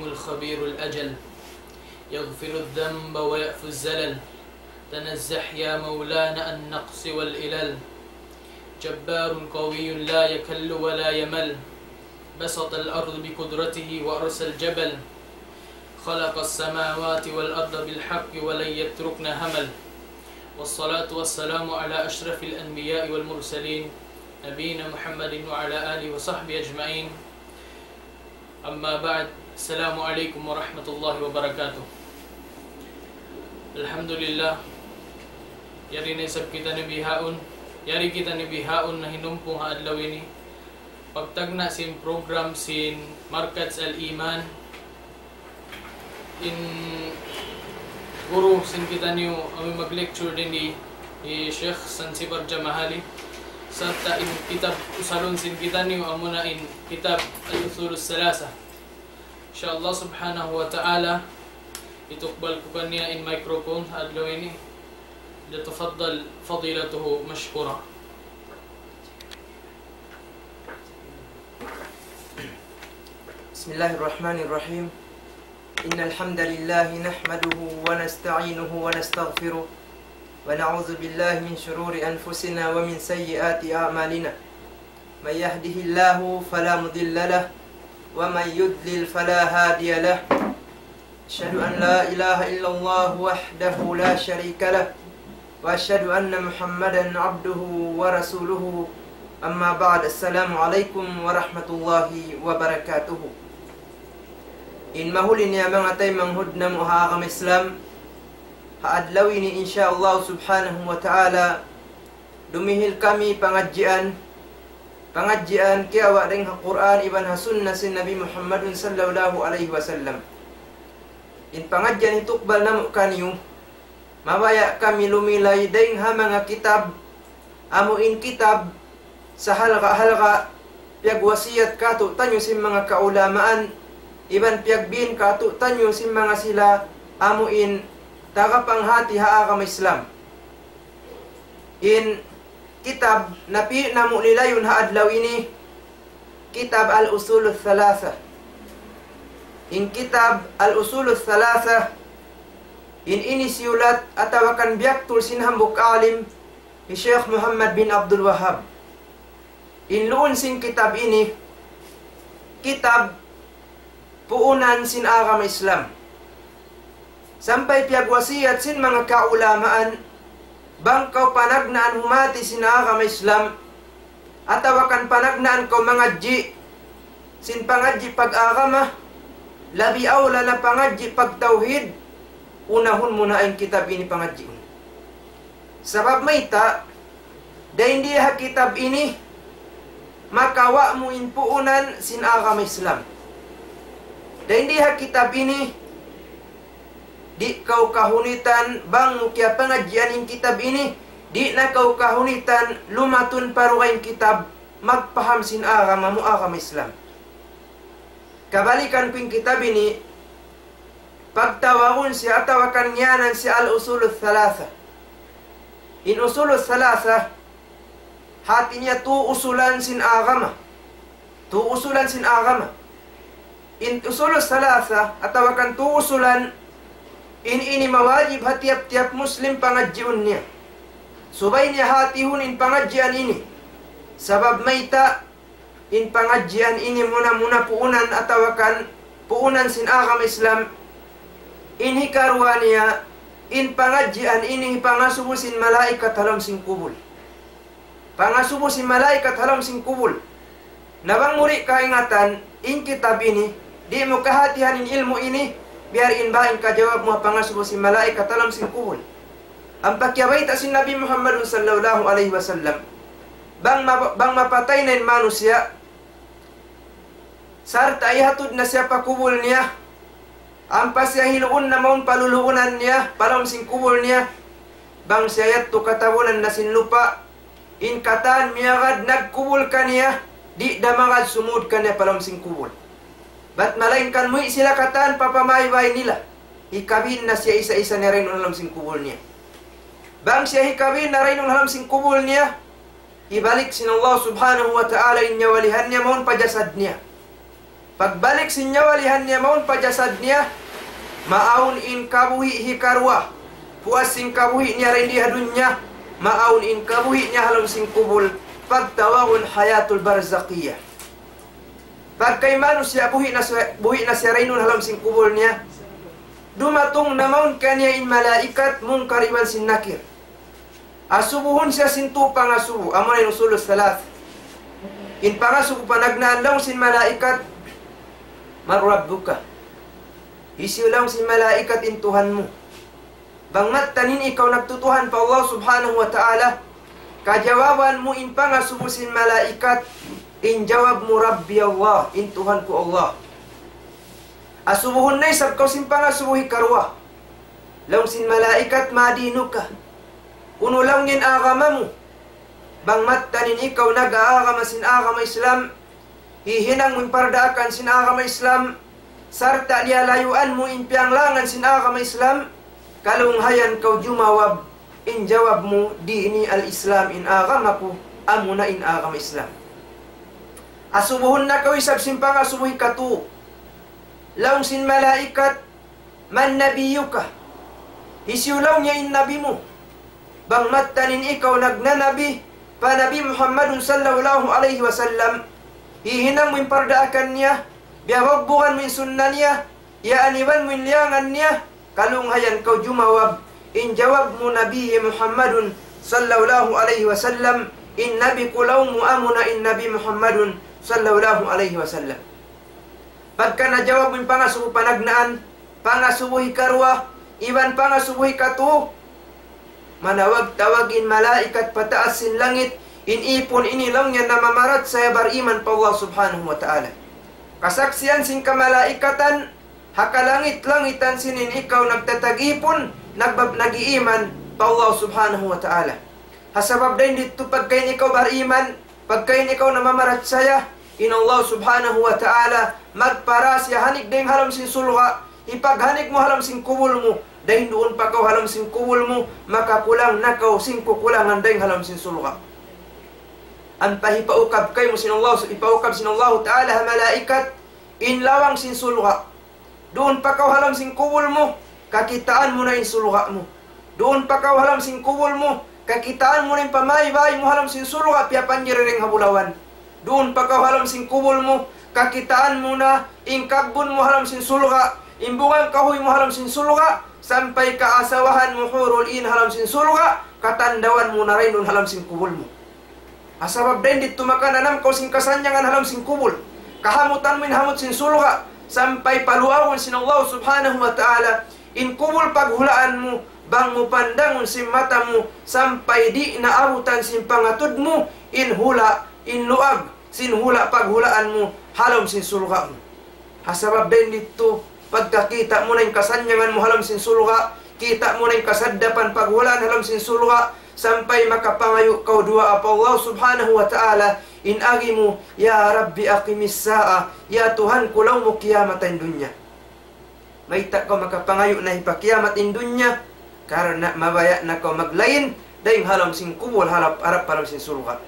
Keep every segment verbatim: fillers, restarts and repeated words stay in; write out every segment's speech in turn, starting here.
الخبير الأجل، يغفر الذنب ويعفو الزلل، تنزه يا مولانا عن النقص والعلل، جبار قوي لا يكل ولا يمل، بسط الأرض بقدرته وأرسى الجبل، خلق السماوات والأرض بالحق ولم يتركن همل، والصلاة والسلام على أشرف الأنبياء والمرسلين، نبينا محمد وعلى آله وصحبه أجمعين. أما بعد، السلام عليكم ورحمة الله وبركاته. Alhamdulillah, yari na isab kitaniyu bihaun, yari kitaniyu bihaun nahinumpu ha adlaw ini. Pagtagna' sin program sin Markaz Al-Iman, in guru sin kitaniyu amu in mag-lecture dindi, hi Sheikh Sansibar Jamahali, sarta' in kitab usalun sin kitaniyu amuna in kitab Al-Usul Thalatha. Insha Allah subhanahu wa ta'ala, hitukbal ku kaniya in microphone ha adlaw ini. ليتفضل فضيلته مشكورا. بسم الله الرحمن الرحيم. إن الحمد لله نحمده ونستعينه ونستغفره، ونعوذ بالله من شرور أنفسنا ومن سيئات أعمالنا. من يهده الله فلا مضل له، ومن يضلل فلا هادي له. أشهد أن لا إله إلا الله وحده لا شريك له، وأشهد أن محمدا عبده ورسوله. أما بعد، السلام عليكم ورحمة الله وبركاته. In mahuli niya manga taymanghud namu' ha agama Islam, ha adlaw ini, insha Allah subhanahu wa ta'ala, dumihil kami pangadjian, pangadjian kiyawa' dayn ha Qur'an iban ha sunnah sin Nabi Muhammadun sallallahu alayhi wasallam. In pangadjian hitukbal namu' kaniyu, mabaya' kami lumilay dayn ha manga kitab, amu in kitab sahalga'-halga' piyagwasiyat kātu'niyu sin manga kaulamaan, iban piyagbin kātu'niyu sin manga sila amu in tagapanghāti ha agama Islam. In kitab napi' namu' lilayun ha adlaw ini, kitab Al-Usul Thalatha. In kitab Al-Usul Thalatha, in ini siyulat atawa kan biyaktul sin hambuuk alim, hi Sheikh Muhammad bin Abdul Wahhab. In luun sin kitab ini, kitab puunan sin agama Islam. Sampay piyagwasiyat sin manga kaulamaan, bang kaw panagnaan humāti sin agama Islam, atawa kan panagnaan kaw mangadji' sin pangadji' pag-agama, labi awla na pangadji' pagtawhid, unahun mu na in kitab ini pangadjiun. Sabab mayta', dayn di ha kitab ini, makawa' mu in puunan sin agama Islam. Dayn di ha kitab ini, di' kaw kahunitan, bang mu kiyapangadjian in kitab ini, di' na kaw kahunitan, lumatun pa dugaing kitab, magpaham sin agama mu agama Islam. Kabalikan ku in kitab ini, pagtawagun siya atawa kan ngiyanan siya Al-Usul Thalatha. In Usul Thalatha, hāti niya tu usulan sin agama. Tu usulan sin agama. In Usul Thalatha, atawa kan tu usulan, in ini mawajib ha tiyap-tiyap Muslim pangadjiun niya. Subay niya hātihun in pangadjian ini. Sabab mayta', in pangadjian ini muna-muna puunan atawa kan puunan sin agama Islam. In hikaruwa niya, in pangadjian ini pangasubu sin malaikat ha lawm sin kubul. Pangasubu sin malaikat ha lawm sin kubul. Na bang mu di' kaingatan, in kitab ini, di' mu kahātihan in ilmu' ini, biya' diin ba in kajawab mu ha pangasubu sin malaikat ha lawm sin kubul. Ampa kiyabayta' sin Nabi Muhammadun sallallahu alayhi wasallam, bang ma-, bang mapatay na in manusiya', sarta' ihatud na siya pa kubul niya, ampa siya hiluun na mawn pa luluunan niya, pa lawm sin kubul niya, bang siya yadtu katabunan na sin lupa', in katan miyagad nagkubul kaniya, di' da magad sumud kaniya pa lawm sin kubul. Bat malaingkan muwi' sila katan pa pamaybay nila. Hikabin na siya isa-isa niya dayn ha lawm sin kubul niya. Bang siya hikabin na dayn ha lawm sin kubul niya, hibalik sin Allah subhanahu wa ta'ala in nyawalihan niya mawn pa jasad niya. Pagbalik sin nyawa lihan niya mawn pa jasad niya, maawn in kabuhi' hikaruwa. Puas sin kabuhi' niya dayn di ha dunya, maawn in kabuhi' niya ha lawm sin kubul. Pagtawagun hayatul barzakhiyyah. Pagka in manusiya' buhi' na siya, buhi' na siya dayn duun ha lawm sin kubul niya, dumatung na mawn kaniya in malaikat Munkar iban sin Nakir. Asubuhun siya sin tū pangasubu, amu na in usulus salas. In pangasubu panagnaan, laung sin malaikat, "Man rabbuka?" Hisiyu, laung sin malaikat, in Tuhan mu? Bang mattan in ikaw nagtutuhan pa Allah subhanahu wa ta'ala, kajawaban mu in pangasubu sin malaikat, in jawab mu, "Rabbi Allah, in Tuhan ku Allah." Asubuhun na isab kaw sin pangasubu hikaruwa. Laung sin malaikat, "Ma dinuka?" Unu laung in agama mu? Bang mattan in ikaw nag-aagama sin agama Islam, hihinang mu in pardaakan sin agama Islam, sarta' liyalayuan mu in piyanglangan sin agama Islam, kalunghayan kaw jumawab, in jawab mu, "Dini al-Islam, in agama ku, amuna in agama Islam." Asubuhun na kaw isab sin pangasubu hikatū. Laung sin malaikat, "Man nabiyyuka?" Hisiyu laung niya in nabi mu? Bang mattan in ikaw nagnanabi pa Nabi Muhammadun sallallahu alayhi wasallam, hihinang mu in pardaakan niya, biyabugbugan mu in sunna niya, iyaaniban mu in liyangan niya, kalunghayan kaw jumawab, in jawab mu, "Nabi Muhammadun sallallahu alayhi wasallam, in nabi ku laung mu amuna in Nabi Muhammadun sallallahu alayhi wasallam." Pagka najawab mu in pangasubu panagnaan, pangasubu hikaruwa, iban pangasubu hikatū, manawag-tawag in malaikat pa taas sin langit, in ipun ini laung niya namamarachaya bariman pa Allah subhanahu wa ta'ala. Kasaksian sin kamalaikatan, ha kalangit-langitan sin in ikaw nagtatag-ipun, nagbab-, nag-iiman pa Allah subhanahu wa ta'ala. Ha sabab dayn didtu pagka in ikaw bariman, pagka in ikaw namamarachaya, in Allah subhanahu wa ta'ala magpara siya hanig dayng ha lawm sin surga', hipaghanig mu ha lawm sin kubul mu, dayn duun pa kaw ha lawm sin kubul mu, makakulang na kaw sin kukulangan dayng ha lawm sin surga'. Ampa hipaukab kaymu sin Allah, hipaukab sin Allah ta'ala ha malaikat, in lawang sin surga'. Duun pa kaw ha lawm sin kubul mu, kakitaan mu na in surga' mu. Duun pa kaw ha lawm sin kubul mu, kakitaan mu na in pamaybay mu ha lawm sin surga', piyapanjari dayng ha bulawan. Duun pa kaw ha lawm sin kubul mu, kakitaan mu na in kabbun mu ha lawm sin surga', in bunga kahuy mu ha lawm sin surga', sampay kaasawahan mu hurul in ha lawm sin surga', katandawan mu na dayn duun ha lawm sin kubul mu. Ha sabab dayn didtu makananam kaw sin kasannyangan ha lawm sin kubul. Kahamutan mu in hamut sin surga', sampay paluagun sin Allah subhanahu wa ta'ala in kubul paghulaan mu, bang mu pandangun sin mata mu, sampay di' na abutan sin pangatud mu in hula', in luag sin hula' paghulaan mu ha lawm sin surga' mu. Ha sabab dayn didtu, pagkakita' mu na in kasannyangan mu ha lawm sin surga', kita' mu na in kasaddapan paghulaan ha lawm sin surga', sampay makapangayu' kaw duwaa pa Allah subhanahu wa ta'ala, in agi mu, "Ya Rabbi aqimis sa'a, ya Tuhan ku, laung mu kiyamata in dunya." Mayta' kaw makapangayu' na hipakiyamat in dunya? Karna' mabaya' na kaw maglain dayng ha lawm sin kubul harap, harap pa lawm sin surga'.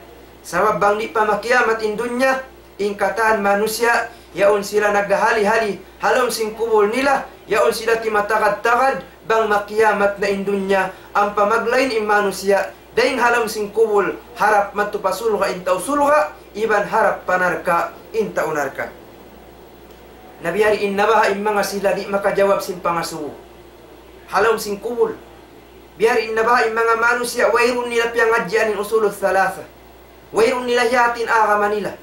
Sabab bang di' pa makiyamat in dunya, in katan manusiya', yaun sila naghahali-hali ha lawm sin kubul nila, yaun sila timatagad-tagad, bang makiyamat na in dunya, ampa maglain in manusiya', dayng ha lawm sin kubul, harap madtu pa surga' in tau surga', iban harap pa narka' in tau narka'. Na biya' diin na baha' in manga sila di' makajawab sin pangasubu ha lawm sin kubul. Biya' diin na baha' in manga manusiya' wayruun nila piyangadjian in usulus salasa. Wayruun nila hiyati in agama nila.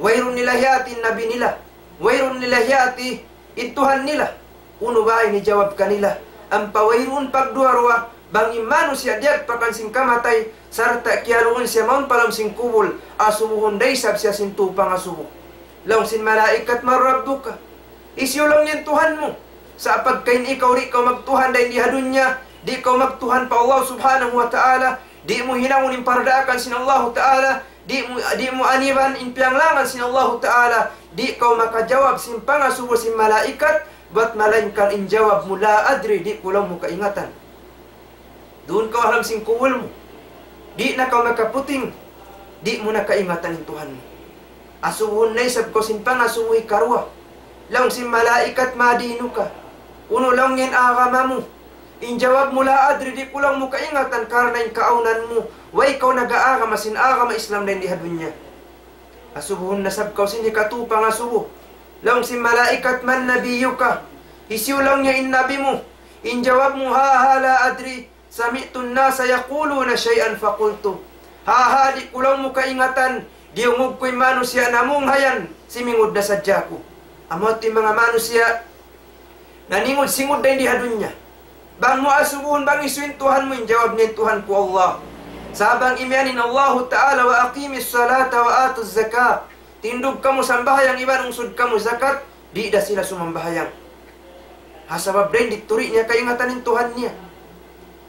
Wayruun nila hiyati in nabi nila. Wayruun nila hiyati in Tuhan nila. Unu ba in hijawab kanila? Ampa wayruun pagduwa-ruwa, bang in manusiya' diyagpakan sin kamatay, sarta' kiyaluun siya mawn pa lawm sin kubul, asubuhun da isab siya sin tū pangasubu. Laung sin malaikat, "Man rabbuka?" Hisiyu laung niya in Tuhan mu? Sa' pagka in ikaw di' kaw magtuhan dayn di ha dunya, di' kaw magtuhan pa Allah subhanahu wa ta'ala, di' mu hinangun in pardaakan sin Allahu ta'ala, di' mu, di' mu aniban in piyanglangan sin Allahu ta'ala, di' kaw makajawab sin pangasubu sin malaikat, bat malaingkan in jawab mu, "La adri," di' ku laung mu kaingatan. Duun kaw ha lawm sin kubul mu. Di' na kaw makaputing. Di' mu na kaingatan in Tuhan mu. Asubuhun na isab kaw sin pangasubu hikaruwa. Laung sin malaikat, ما دينك? Unu laung in agama mu? In jawab mu, لا أدري, di' ku laung mu kaingatan karna' in kaawnan mu, way kaw nag-aagama sin agama Islam dayn di ha dunya. Asubuhun na isab kaw sin hikatu pangasubu. Laung sin malaikat, من نبيك? Hisiyu laung niya in nabi mu? In jawab mu, ها ها لا أدري، سمعت الناس يقولون شيئا فقلت. Ha ha, di' ku laung mu kaingatan, diyungug ku in manusiya' namung hayan, simingud na sadja aku. Amu yadtu in manga manusiya' naningud-singud dayn di ha dunya. Bang mu asubuhun bang hisiyu in Tuhan mu, in jawab niya, in Tuhan ku Allah. Sa' bang imiyan in Allahu Ta'ala, وأقيموا الصلاة وآتوا الزكاة. Tindug kamu sambahayang iban ungsud kamu zakat, di' da sila sumambahayang. Ha sabab dayn di tuud niya kaingatan in Tuhan niya.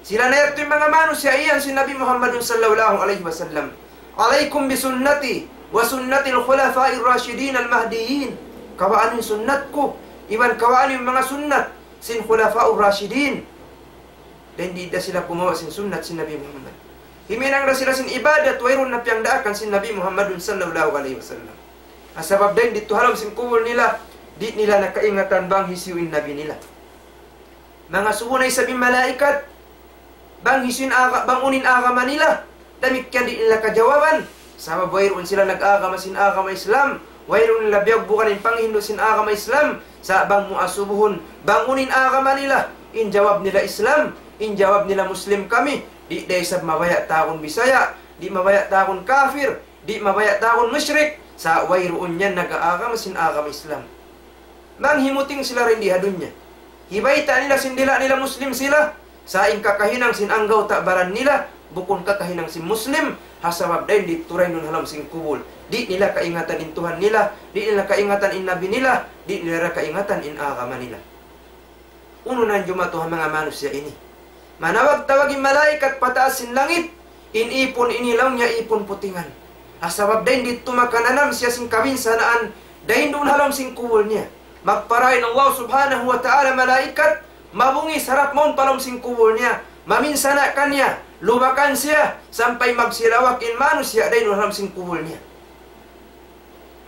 Sila na yadtu in manga manusiya' iyan sin Nabi Muhammadun sallallahu alayhi wasallam. عليكم بسنتي وسنة الخلفاء الراشدين المهديين. Kawaa niyu in sunnat ku, iban kawaa niyu in manga sunnat sin Khulafa'ur Rashidin. Dayn di da sila kumawa' sin sunnat sin Nabi Muhammad. Himinang da sila sin ibadat, wayruun na piyagdaakan sin Nabi Muhammadun sallallahu alayhi wasallam. Ha sabab dayn di tuud ha lawm sin kubul nila, di' nila na kaingatan bang hisiyu in nabi nila. Mangasubu na isab in malaikat, bang hisiyu in aga-, bang unu in agama nila, damikkiyan di' nila kajawaban. Sabab wayruun sila nag-agama sin agama Islam, wayruun nila biyugbukan in panghindu' sin agama Islam. Sa' bang mu asubuhun, bang unu in agama nila, in jawab nila Islam, in jawab nila Muslim kami, di' da isab mabaya' tawagun Bisaya', di' mabaya' tawagun kafir, di' mabaya' tawagun mushrik, sa' wayruun yan nag-aagama sin agama Islam. Manghimuting sila dayn di ha dunya. Hibayta' nila sin dila' nila Muslim sila, sa' in kakahinang sin anggawta' baran nila, bukun kakahinang sin Muslim, ha sabab dayn di tuud dayn duun ha lawm sin kubul. Di' nila kaingatan in Tuhan nila, di' nila kaingatan in Nabi nila, di' nila kaingatan in agama nila. Unu na in jumatu ha manga manusiya' ini? Manawag-tawag in malaikat pataas sin langit, in ipun ini laung niya ipun putingan. Ha sabab dayn di tuud makananam siya sin kabinsanaan, dayn duun ha lawm sin kubul niya. Magpara in Allah subhanahu wa ta'ala malaikat, mabungis harap mawn pa lawm sin kubul niya, maminsana' kaniya, lubakan siya, sampay magsilawak in manusiya' dayn duun ha lawm sin kubul niya.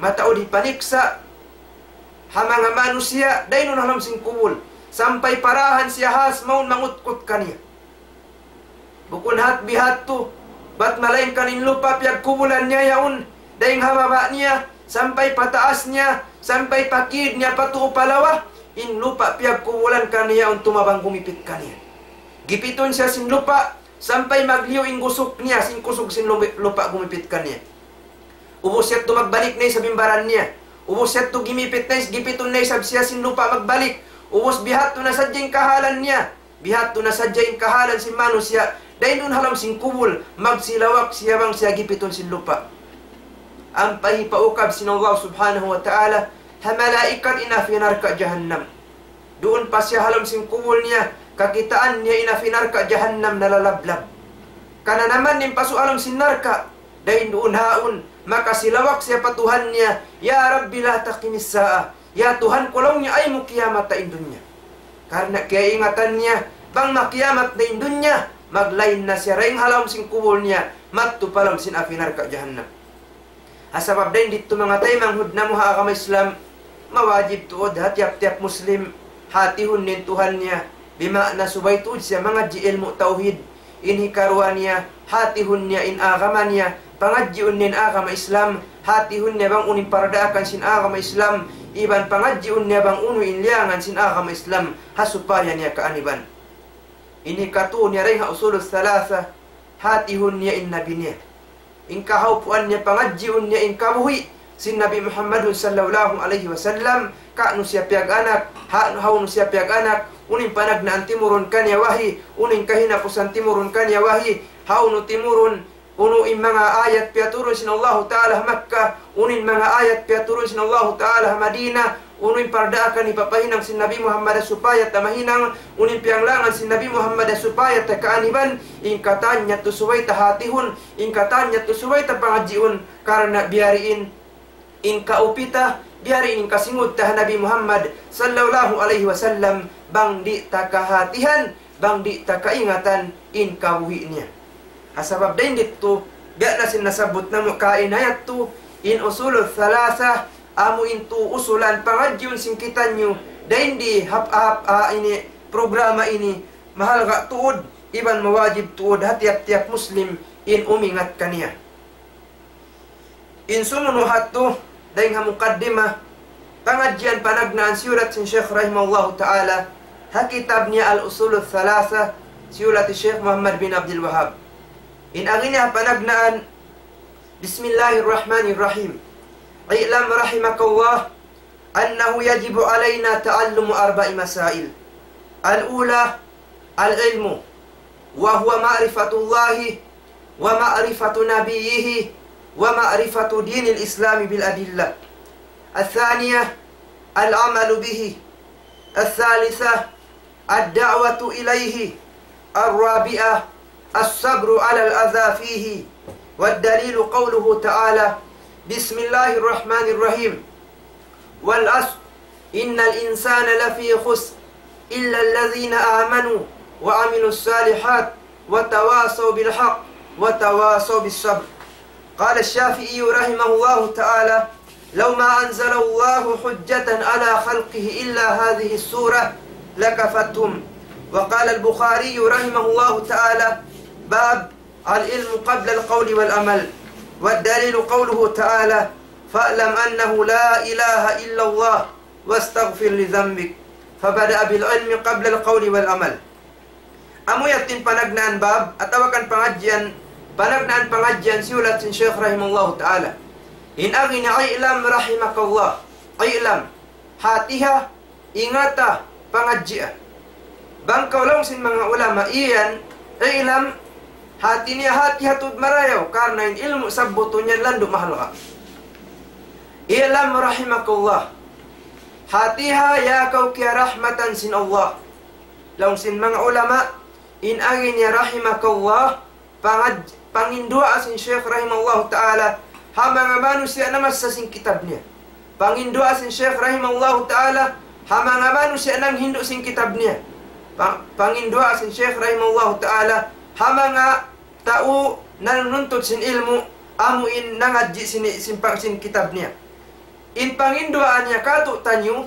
Mataud hipaniksa' ha manga manusiya' dayn duun ha lawm sin kubul, sampay parahan siya has mawn mangutkut kaniya. Bukun hat bihadtu, bat malaingkan in lupa' piyagkubulan niya yaun, dayn ha baba' niya, sampay pa taas niya, sampay pa kid niya, pa tuu pa lawa, in lupa' piyagkubulan kaniya yaun tumabang gumipit kaniya. Gipitun siya sin lupa', sampay magliyu in gusuk niya, sin kusug sin lupa', lupa' gumipit kaniya. Ubus yadtu magbalik na isab in baran niya. Ubus yadtu gimipit na is-, gipitun na isab siya sin lupa' magbalik. Ubus bihadtu na sadja in kahalan niya. Bihadtu na sadja in kahalan sin manusiya'. Dayn duun ha lawm sin kubul, magsilawak siya bang siya gipitun sin lupa'. Ampa hipaukab sin Allah subhanahu wa ta'ala ha malaikat in api narka' jahannam. Duun pa siya ha lawm sin kubul niya, kakitaan niya in api narka' jahannam nalalablab. Kananaman niya in pasu' ha lawm sin narka', dayn duun haun, makasilawak siya pa Tuhan niya, يا رب لا تقم الساعة. Ya Tuhan ku laung niya, ayaw mu kiyamata in dunya. Karna' kiyaingatan niya, bang makiyamat na in dunya, maglain na siya dayn ha lawm sin kubul niya, madtu pa lawm sin api narka' jahannam. Ha sabab dayn di tuud manga taymanghud namu' ha agama Islam, mawajib tuud ha tiyap-tiyap Muslim, hatihun niya in Tuhan niya, bima'na subay tuud siya mangadji' ilmu' tawhid, in hikaruwa niya, hatihun niya in agama niya, pangadjiun niya in agama Islam, hatihun niya bang unu in pardaakan sin agama Islam, iban pangadjiun niya bang unu in liyangan sin agama Islam, ha supaya niya kaaniban. In hikatu niya dayn ha usulus salasa, hatihun niya in nabi niya. In kahaupuan niya pangadjiun niya in kabuhi' sin Nabi Muhammadun sallallahu alayhi wasallam, kaunu siya piyag-anak, ha-, hawnu siya piyag-anak, unu in panagnaan timurun kaniya wahi, unu in kahinapusan timurun kaniya wahi, hawnu timurun, unu in manga ayat piyaturun sin Allahu Ta'ala ha Makkah, unu in manga ayat piyaturun sin Allahu Ta'ala ha Madinah, unu in pardaakan hipapahinang sin Nabi Muhammad supaya ta mahinang, unu in piyanglangan sin Nabi Muhammad supaya ta kaaniban, in katan yadtu subay ta hatihun, in katan yadtu subay ta pangadjiun, karna' biya' diin in kaupita, biya' diin in kasingud ta ha Nabi Muhammad sallallahu alayhi wasallam, bang di' ta kahatihan, bang di' ta kaingatan in kabuhi' niya. Ha sabab dayn ditu, biya' na sin nasabbut namu' kaina yadtu, in usulus salasa, amu in tu usulan pangadjiun sin kitaniyu, dayn di hap-, hap-, ha ini, programa ini, mahalga' tuud, iban mawajib tuud ha tiyap-tiyap Muslim in umingat kaniya. In sumunu' hatu, dayn ha mukaddimah, pangadjian panagnaan siyulat sin Shaykh rahimahullahu ta'ala, ha kitab niya Al-Usul Al-Thalatha, siyulat Shaykh Muhammad bin Abdul Wahhab. In agi niya panagnaan, بسم الله الرحمن الرحيم. اعلم رحمك الله أنه يجب علينا تعلم أربع مسائل. الأولى العلم، وهو معرفة الله ومعرفة نبيه ومعرفة دين الإسلام بالأدلة. الثانية العمل به. الثالثة الدعوة إليه. الرابعة الصبر على الأذى فيه. والدليل قوله تعالى: بسم الله الرحمن الرحيم. والعصر، إن الإنسان لفي خسر، إلا الذين آمنوا وعملوا الصالحات وتواصوا بالحق وتواصوا بالصبر. قال الشافعي رحمه الله تعالى: لو ما أنزل الله حجة على خلقه إلا هذه السورة لكفتهم. وقال البخاري رحمه الله تعالى: باب العلم قبل القول والعمل. والدليل قوله تعالى: فاعلم أنه لا إله إلا الله واستغفر لذنبك. فبدأ بالعلم قبل القول والعمل. Amu yadtu in panagnaan bab, atawa kan pangadjian, panagnaan pangadjian siyulat sin Shaykh rahimahullahu ta'ala. In agi niya, اعلم رحمك الله. اعلم. Hatiha, ingata, pangadjia. Bang kaw laung sin manga ulama iyan, اعلم, hati niya hatiha tuud marayaw, karna' in ilmu' sabbutun yan landu' mahalga'. اعلم رحمك الله. Hatiha ya kaw kiyarahmatan sin Allah. Laung sin manga ulama, in agi niya رحمك الله, pangad-, panginduwaa sin Shaykh rahimahullahu ta'ala, ha manga manusiya' namassa sin kitab niya. Panginduwaa sin Shaykh rahimahullahu ta'ala, ha manga manusiya' nanghindu' sin kitab niya. Pa-, panginduwaa sin Shaykh rahimahullahu ta'ala, ha manga tau nanuntut sin ilmu', amu in nangadji' sin, sin pang-, sin kitab niya. In panginduwaa niya kātu'niyu,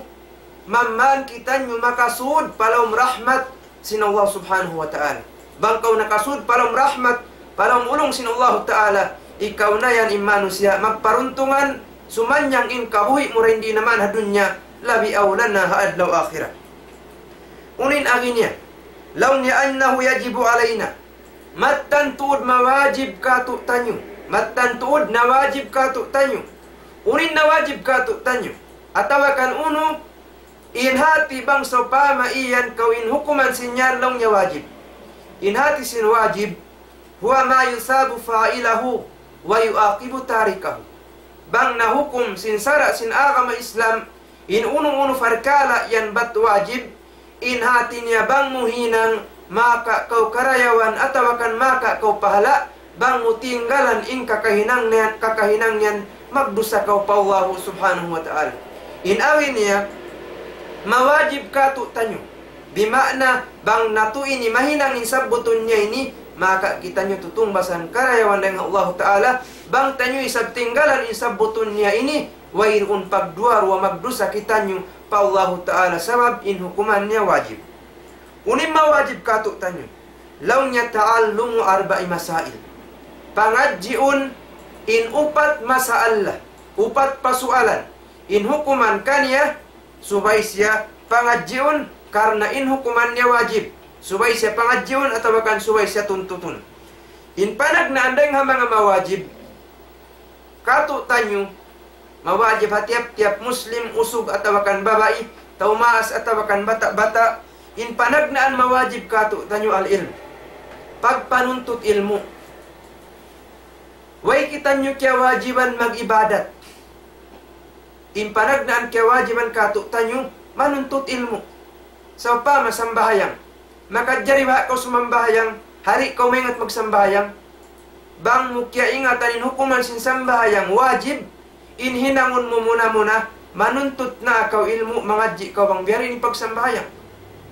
mamman kitaniyu makasud pa lawm rahmat sin Allah subhanahu wa ta'ala. Bang kaw nakasud pa lawm rahmat, pa lawm ulung sin Allah ta'ala, ikaw na yan in manusiya' magparuntungan, sumannyang in kabuhi' mu dayn di naman ha dunya, labi awla na ha adlaw akhirat. Unu in agi niya, laung niya أنه يجب علينا. Mattan tuud mawajib kātu'niyu. Mattan tuud nawajib kātu'niyu. Unu in nawajib kātu'niyu. Atawa kan unu, in hati bang sawpama iyan kaw in hukuman sin yan laung niya wajib. In hati sin wajib, هو ما يثاب فاعله ويعاقب تاركه. Bang nahukum sin sara' sin agama Islam, in unu-unu parkala' yan bat wajib, in hati niya bang mu hinang, maka kaw karayawan atawa kan maka kaw pahala', bang mu tinggalan in kakahinang niyan, kakahinang niyan, magdusa kaw pa Allah subhanahu wa ta'ala. In agi niya, mawajib kātu'niyu. Bima'na, bang natu' ini mahinang in sabbutun niya ini, maka kitaniyu tutungbasan karayawan dayn ha Allah ta'ala, bang taniyu isab tinggalan in sabbutun niya ini, wayruun pagduwa-ruwa magdusa kitaniyu pa Allahu Ta'ala sabab in hukuman niya wajib. Unu in mawajib kātu'niyu? Laung niya تعلم أربع مسائل. Pangadjiun in upat masalah, upat pasualan. In hukuman kaniya, subay siya pangadjiun karna' in hukuman niya wajib. Subay siya pangadjiun atawa kan subay siya tuntutun. In panagnaan dayn ha manga mawajib, kātu'niyu, mawajib ha tiyap-tiyap Muslim, usug atawa kan babai, tau maas atawa kan bata'-bata', in panagnaan mawajib kātu'niyu العلم. Pagpanuntut ilmu'. Way kitaniyu kiyawajiban mag-ibadat. In panagnaan kiyawajiban kātu'niyu, manuntut ilmu'. Sawpama sambahayang. Makajari ba kaw sumambahayang, di' kaw maingat magsambahayang? Bang mu kiyaingatan in hukuman sin sambahayang wajib, in hinangun mu muna-muna, manuntut na kaw ilmu', mangadji' kaw bang biya' diin in pagsambahayang.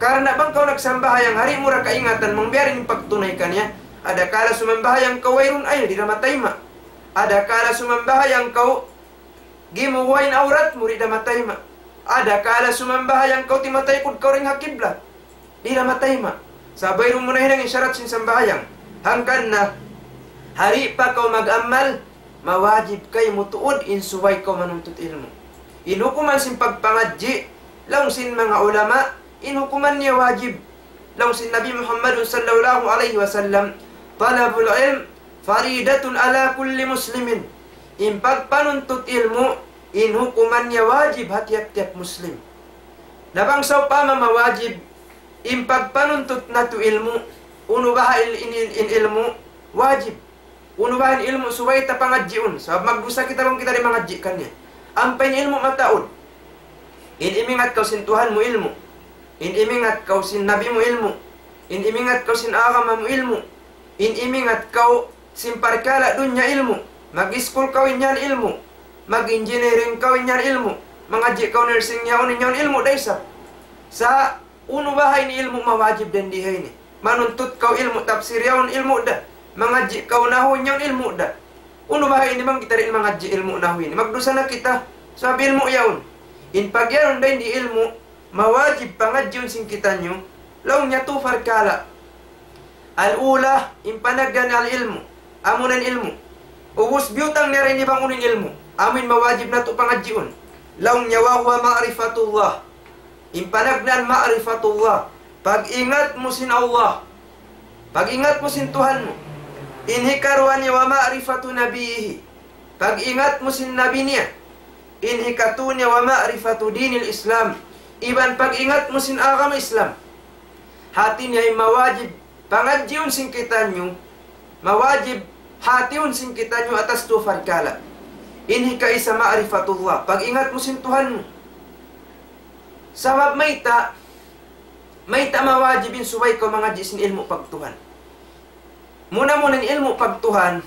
Karna' bang kaw nagsambahayang, di' mu da kaingatan bang biya' diin in pagtunay kaniya. Adakala sumambahayang kaw wayruun ayil, di' da mataima'. Adakala sumambahayang kaw Gimuwa' in awrat mu, di' da matayma'. Adakala sumambahayang kaw timatayikud kaw dayn ha kiblat, di' da matayma'. Sabab wayruun mu nahinang in sharat sin sambahayang. Hangkan na, ha di' pa kaw mag-amal, mawajib kaymu tuud in subay kaw manuntut ilmu'. In hukuman sin pagpangadji', laung sin manga ulama, in hukuman niya wajib. Laung sin Nabi Muhammad sallallahu alayhi wasallam, طلب العلم فريضة على كل مسلم. In pagpanuntut ilmu', in hukuman niya wajib ha tiyap-tiyap Muslim. Na bang sawpama mawajib in pagpanuntut natu' ilmu', unu baha' in, in, in, in ilmu' wajib? Unu baha' in ilmu' subay ta pangadjiun? Sabab magdusa kita bang kita di' mangadji' kaniya. Ampa in ilmu' mataud. In imingat kaw sin Tuhan mu ilmu'. In imingat kaw sin Nabi mu ilmu'. In imingat kaw sin agama mu ilmu'. In imingat kaw sin parkala' dunya ilmu'. Mag-iskul kaw in yan ilmu'. Mag-engineering kaw in yan ilmu'. Mangadji' kaw nursing yaun in yan ilmu' da isab. Sa' unu baha' in ilmu' mawajib dayn di ha ini? Manuntut kaw ilmu' tafsir yaun ilmu' da. Mangadji' kaw nahwu yaun ilmu' da. Unu baha' ini bang kita di' mangadji' ilmu' nahwu ini? Magdusa na kita. Sabab ilmu' yaun. In pagyanun dayn di ilmu', mawajib pangadjiun sin kitaniyu, laung niya tu parkala'. Al-ula, in panagnaan al-ilmu', amuna in ilmu'. Ubus biyutang niya dayn di bang unu in ilmu'. Amu in mawajib natu' pangadjiun. Laung niya وهو معرفة الله. In panagnaan ma'rifatullah. Pag-ingat mu sin Allah. Pag-ingat mu sin Tuhan mu. In hikaruwa niya ومعرفة نبيه. Pag-ingat mu sin Nabi niya. In hikatu niya ومعرفة دين الإسلام. Iban pag-ingat mu sin agama Islam. Hati niya in mawajib pangadjiun sin kitaniyu, mawajib hatiun sin kitaniyu atas tu parkala'. In hikaisa ma'rifatullah, pag-ingat mu sin Tuhan mu. Sabab mayta', mayta' mawajib in subay kaw mangadji' sin ilmu' pagtuhan. Muna-muna in ilmu' pagtuhan,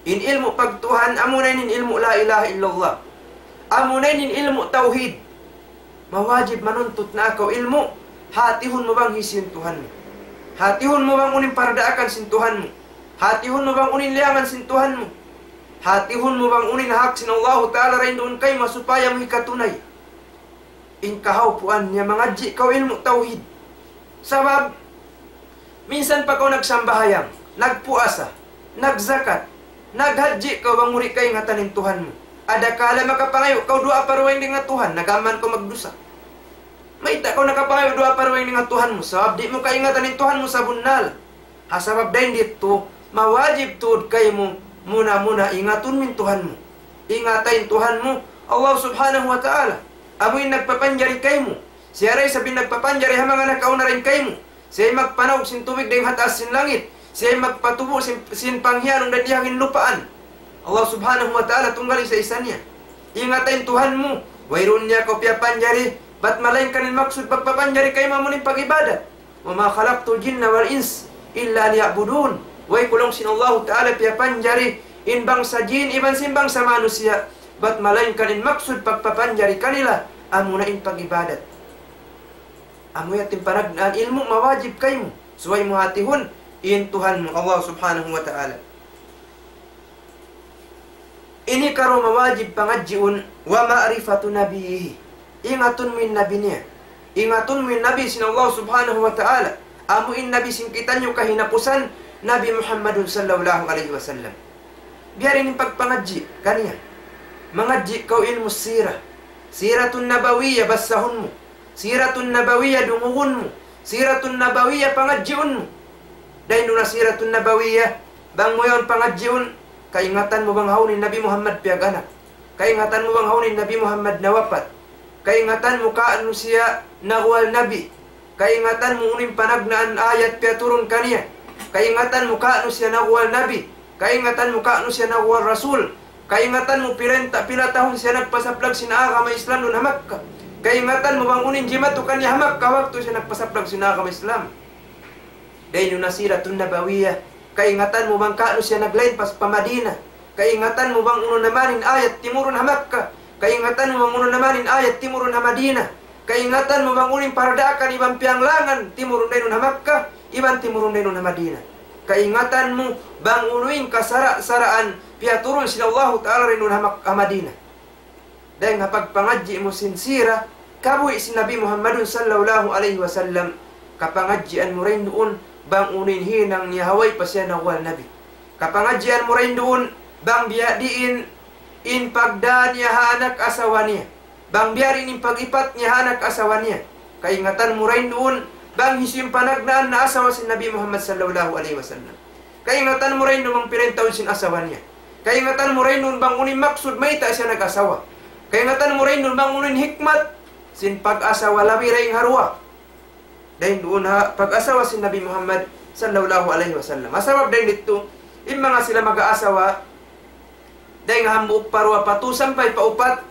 in ilmu' pagtuhan, amuna in ilmu' la ilaha illallah. Amuna in ilmu' tawhid. Mawajib manuntut na kaw ilmu', hatihun mu bang hisiyu in Tuhan mu. Hatihun mu bang unu in pardaakan sin Tuhan mu. Hatihun mu bang unu in liyangan sin Tuhan mu. Hatihun mu bang unu in hak sin Allahu Ta'ala dayn duun kaymu supaya mu hikatunay. In kahawpuan niya mangadji' kaw ilmu' tawhid. Sabab, minsan pa kaw nagsambahayang, nagpuasa, nagzakat, naghadji' kaw bang mu di' kaingatan in Tuhan mu. Adakala makapangayu' kaw duwaa pa dugaing dayn ha Tuhan, nag-amal kaw magdusa. Mayta' kaw nakapangayu' duwaa pa dugaing dayn ha Tuhan mu, sabab di' mu kaingatan in Tuhan mu sabunnal. Ha sabab dayn didtu, mawajib tuud kaymu, muna-muna ingatun mu in Tuhan mu. Ingata in Tuhan mu, Allah Subhanahu wa Ta'ala. Amu in nagpapanjari kaymu. Siya da isab in nagpapanjari ha manga nakauna dayn kaymu. Siya in magpanaug sin tubig dayn ha taas sin langit. Siya in magpatubu' sin, sin panghiyanun dayn di ha lupaan. Allah Subhanahu wa Ta'ala tunggal isa-isa niya. Ingata in Tuhan mu. Wayruun niya kaw piyapanjari. Bat malaingkan in maksud pagpapanjari kaymu amu in pag-ibadat. وما خلقت الجن والإنس إلا ليعبدون. Way ku laung sin Allahu Ta'ala piyapanjari in bangsa jin iban sin bangsa manusiya'. Bat malaingkan in maksud pagpapanjari kanila, amuna in pag-ibadat. Amu yadtu in panagnaan ilmu' mawajib kaymu. Subay mu hatihun in Tuhan mu, Allah Subhanahu wa Ta'ala. Ini karuwa mawajib pangadjiun, ومعرفة نبيه. Ingatun mu in Nabi niya. Ingatun mu in Nabi sin Allah Subhanahu wa Ta'ala. Amu in Nabi sin kitaniyu kahinapusan, Nabi Muhammadun sallallahu alayhi wasallam. Biya' diin in pagpangadji' kaniya. Mangadji' kaw ilmu' sira. Siratun Nabawiyya basahun mu. Siratun Nabawiyya dungugun mu. Siratun Nabawiyya pangadjiun mu. Dayn duun na Siratun Nabawiyya, bang mu yaun pangadjiun, kaingatan mu bang hawnu in Nabi Muhammad piyag-anak. Kaingatan mu bang hawnu in Nabi Muhammad nawapat. Kaingatan mu kaunu siya naguwal Nabi. Kaingatan mu unu in panagnaan ayat piyaturun kaniya. Kaingatan mu kaunu siya naguwal Nabi. Kaingatan mu kaunu siya naguwal Rasul. Kaingatan mu pila in ta-, pila tahun siya nagpasaplag sin agama Islam duun ha Makkah. Kaingatan mu bang unu in jimatu kaniya ha Makkah waktu siya nagpasaplag sin agama Islam. Dayn duun na Siratun Nabawiyya. Kaingatan mu bang kaunu siya naglain pa, pa Madina. Kaingatan mu bang unu na man in ayat timurun ha Makkah. Kaingatan mu bang unu na man in ayat timurun ha Madina. Kaingatan mu bang unu in pardaakan iban piyanglangan timurun dayn duun ha Makkah, iban timurun dayn duun ha Madina. Kaingatan mu bang unu in kasara'-saraan piyaturun sin Allahu Ta'ala dayn duun ha Mak-, ha Madina. Dayng ha pagpangadji' mu sin sira, kabuhi' sin Nabi Muhammadun sallallahu alayhi wasallam, kapangadjian mu dayn duun, bang unu in hinang niya ha way pa siya nawwal Nabi. Kapangadjian mu dayn duun, bang biya' diin in pagdā niya ha anak asawa niya. Bang biya' diin in pag-ipat niya ha anak asawa niya. Kaingatan mu dayn duun, bang hisiyu in panagnaan na asawa sin Nabi Muhammad sallallahu alayhi wasallam. Kaingatan mu dayn duun bang pira in taud sin asawa niya. Kaingatan mu dayn duun bang unu in maksud mayta' siya nag-asawa. Kaingatan mu dayn duun bang unu in hikmat sin pag-asawa labi dayn ha duwa. Dayn duun ha pag-asawa sin Nabi Muhammad sallallahu alayhi wasallam. Ha sabab dayn didtu, in manga sila mag-aasawa, dayn ha hambuuk pa duwa pa tū sampay pa upat,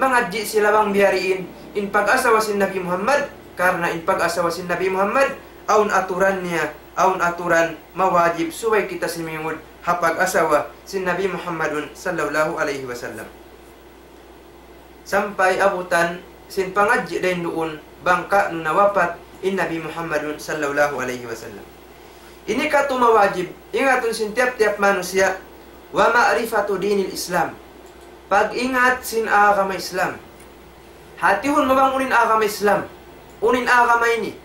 mangadji' sila bang biya' diin in pag-asawa sin Nabi Muhammad, karna' in pag-asawa sin Nabi Muhammad, awn aturan niya, awn aturan mawajib subay kita simingud ha pag-asawa sin Nabi Muhammadun sallallahu alayhi wasallam. Sampay abutan sin pangadji' dayn duun bang ka'nu nawapat in Nabi Muhammadun sallallahu alayhi wasallam. Ini katu' mawajib, ingatun sin tiyap-tiyap manusiya', wa ma'rifatu dinil Islam. Pag-ingat sin agama Islam. Hatihun mu bang unu in agama Islam. Unu in agama ini.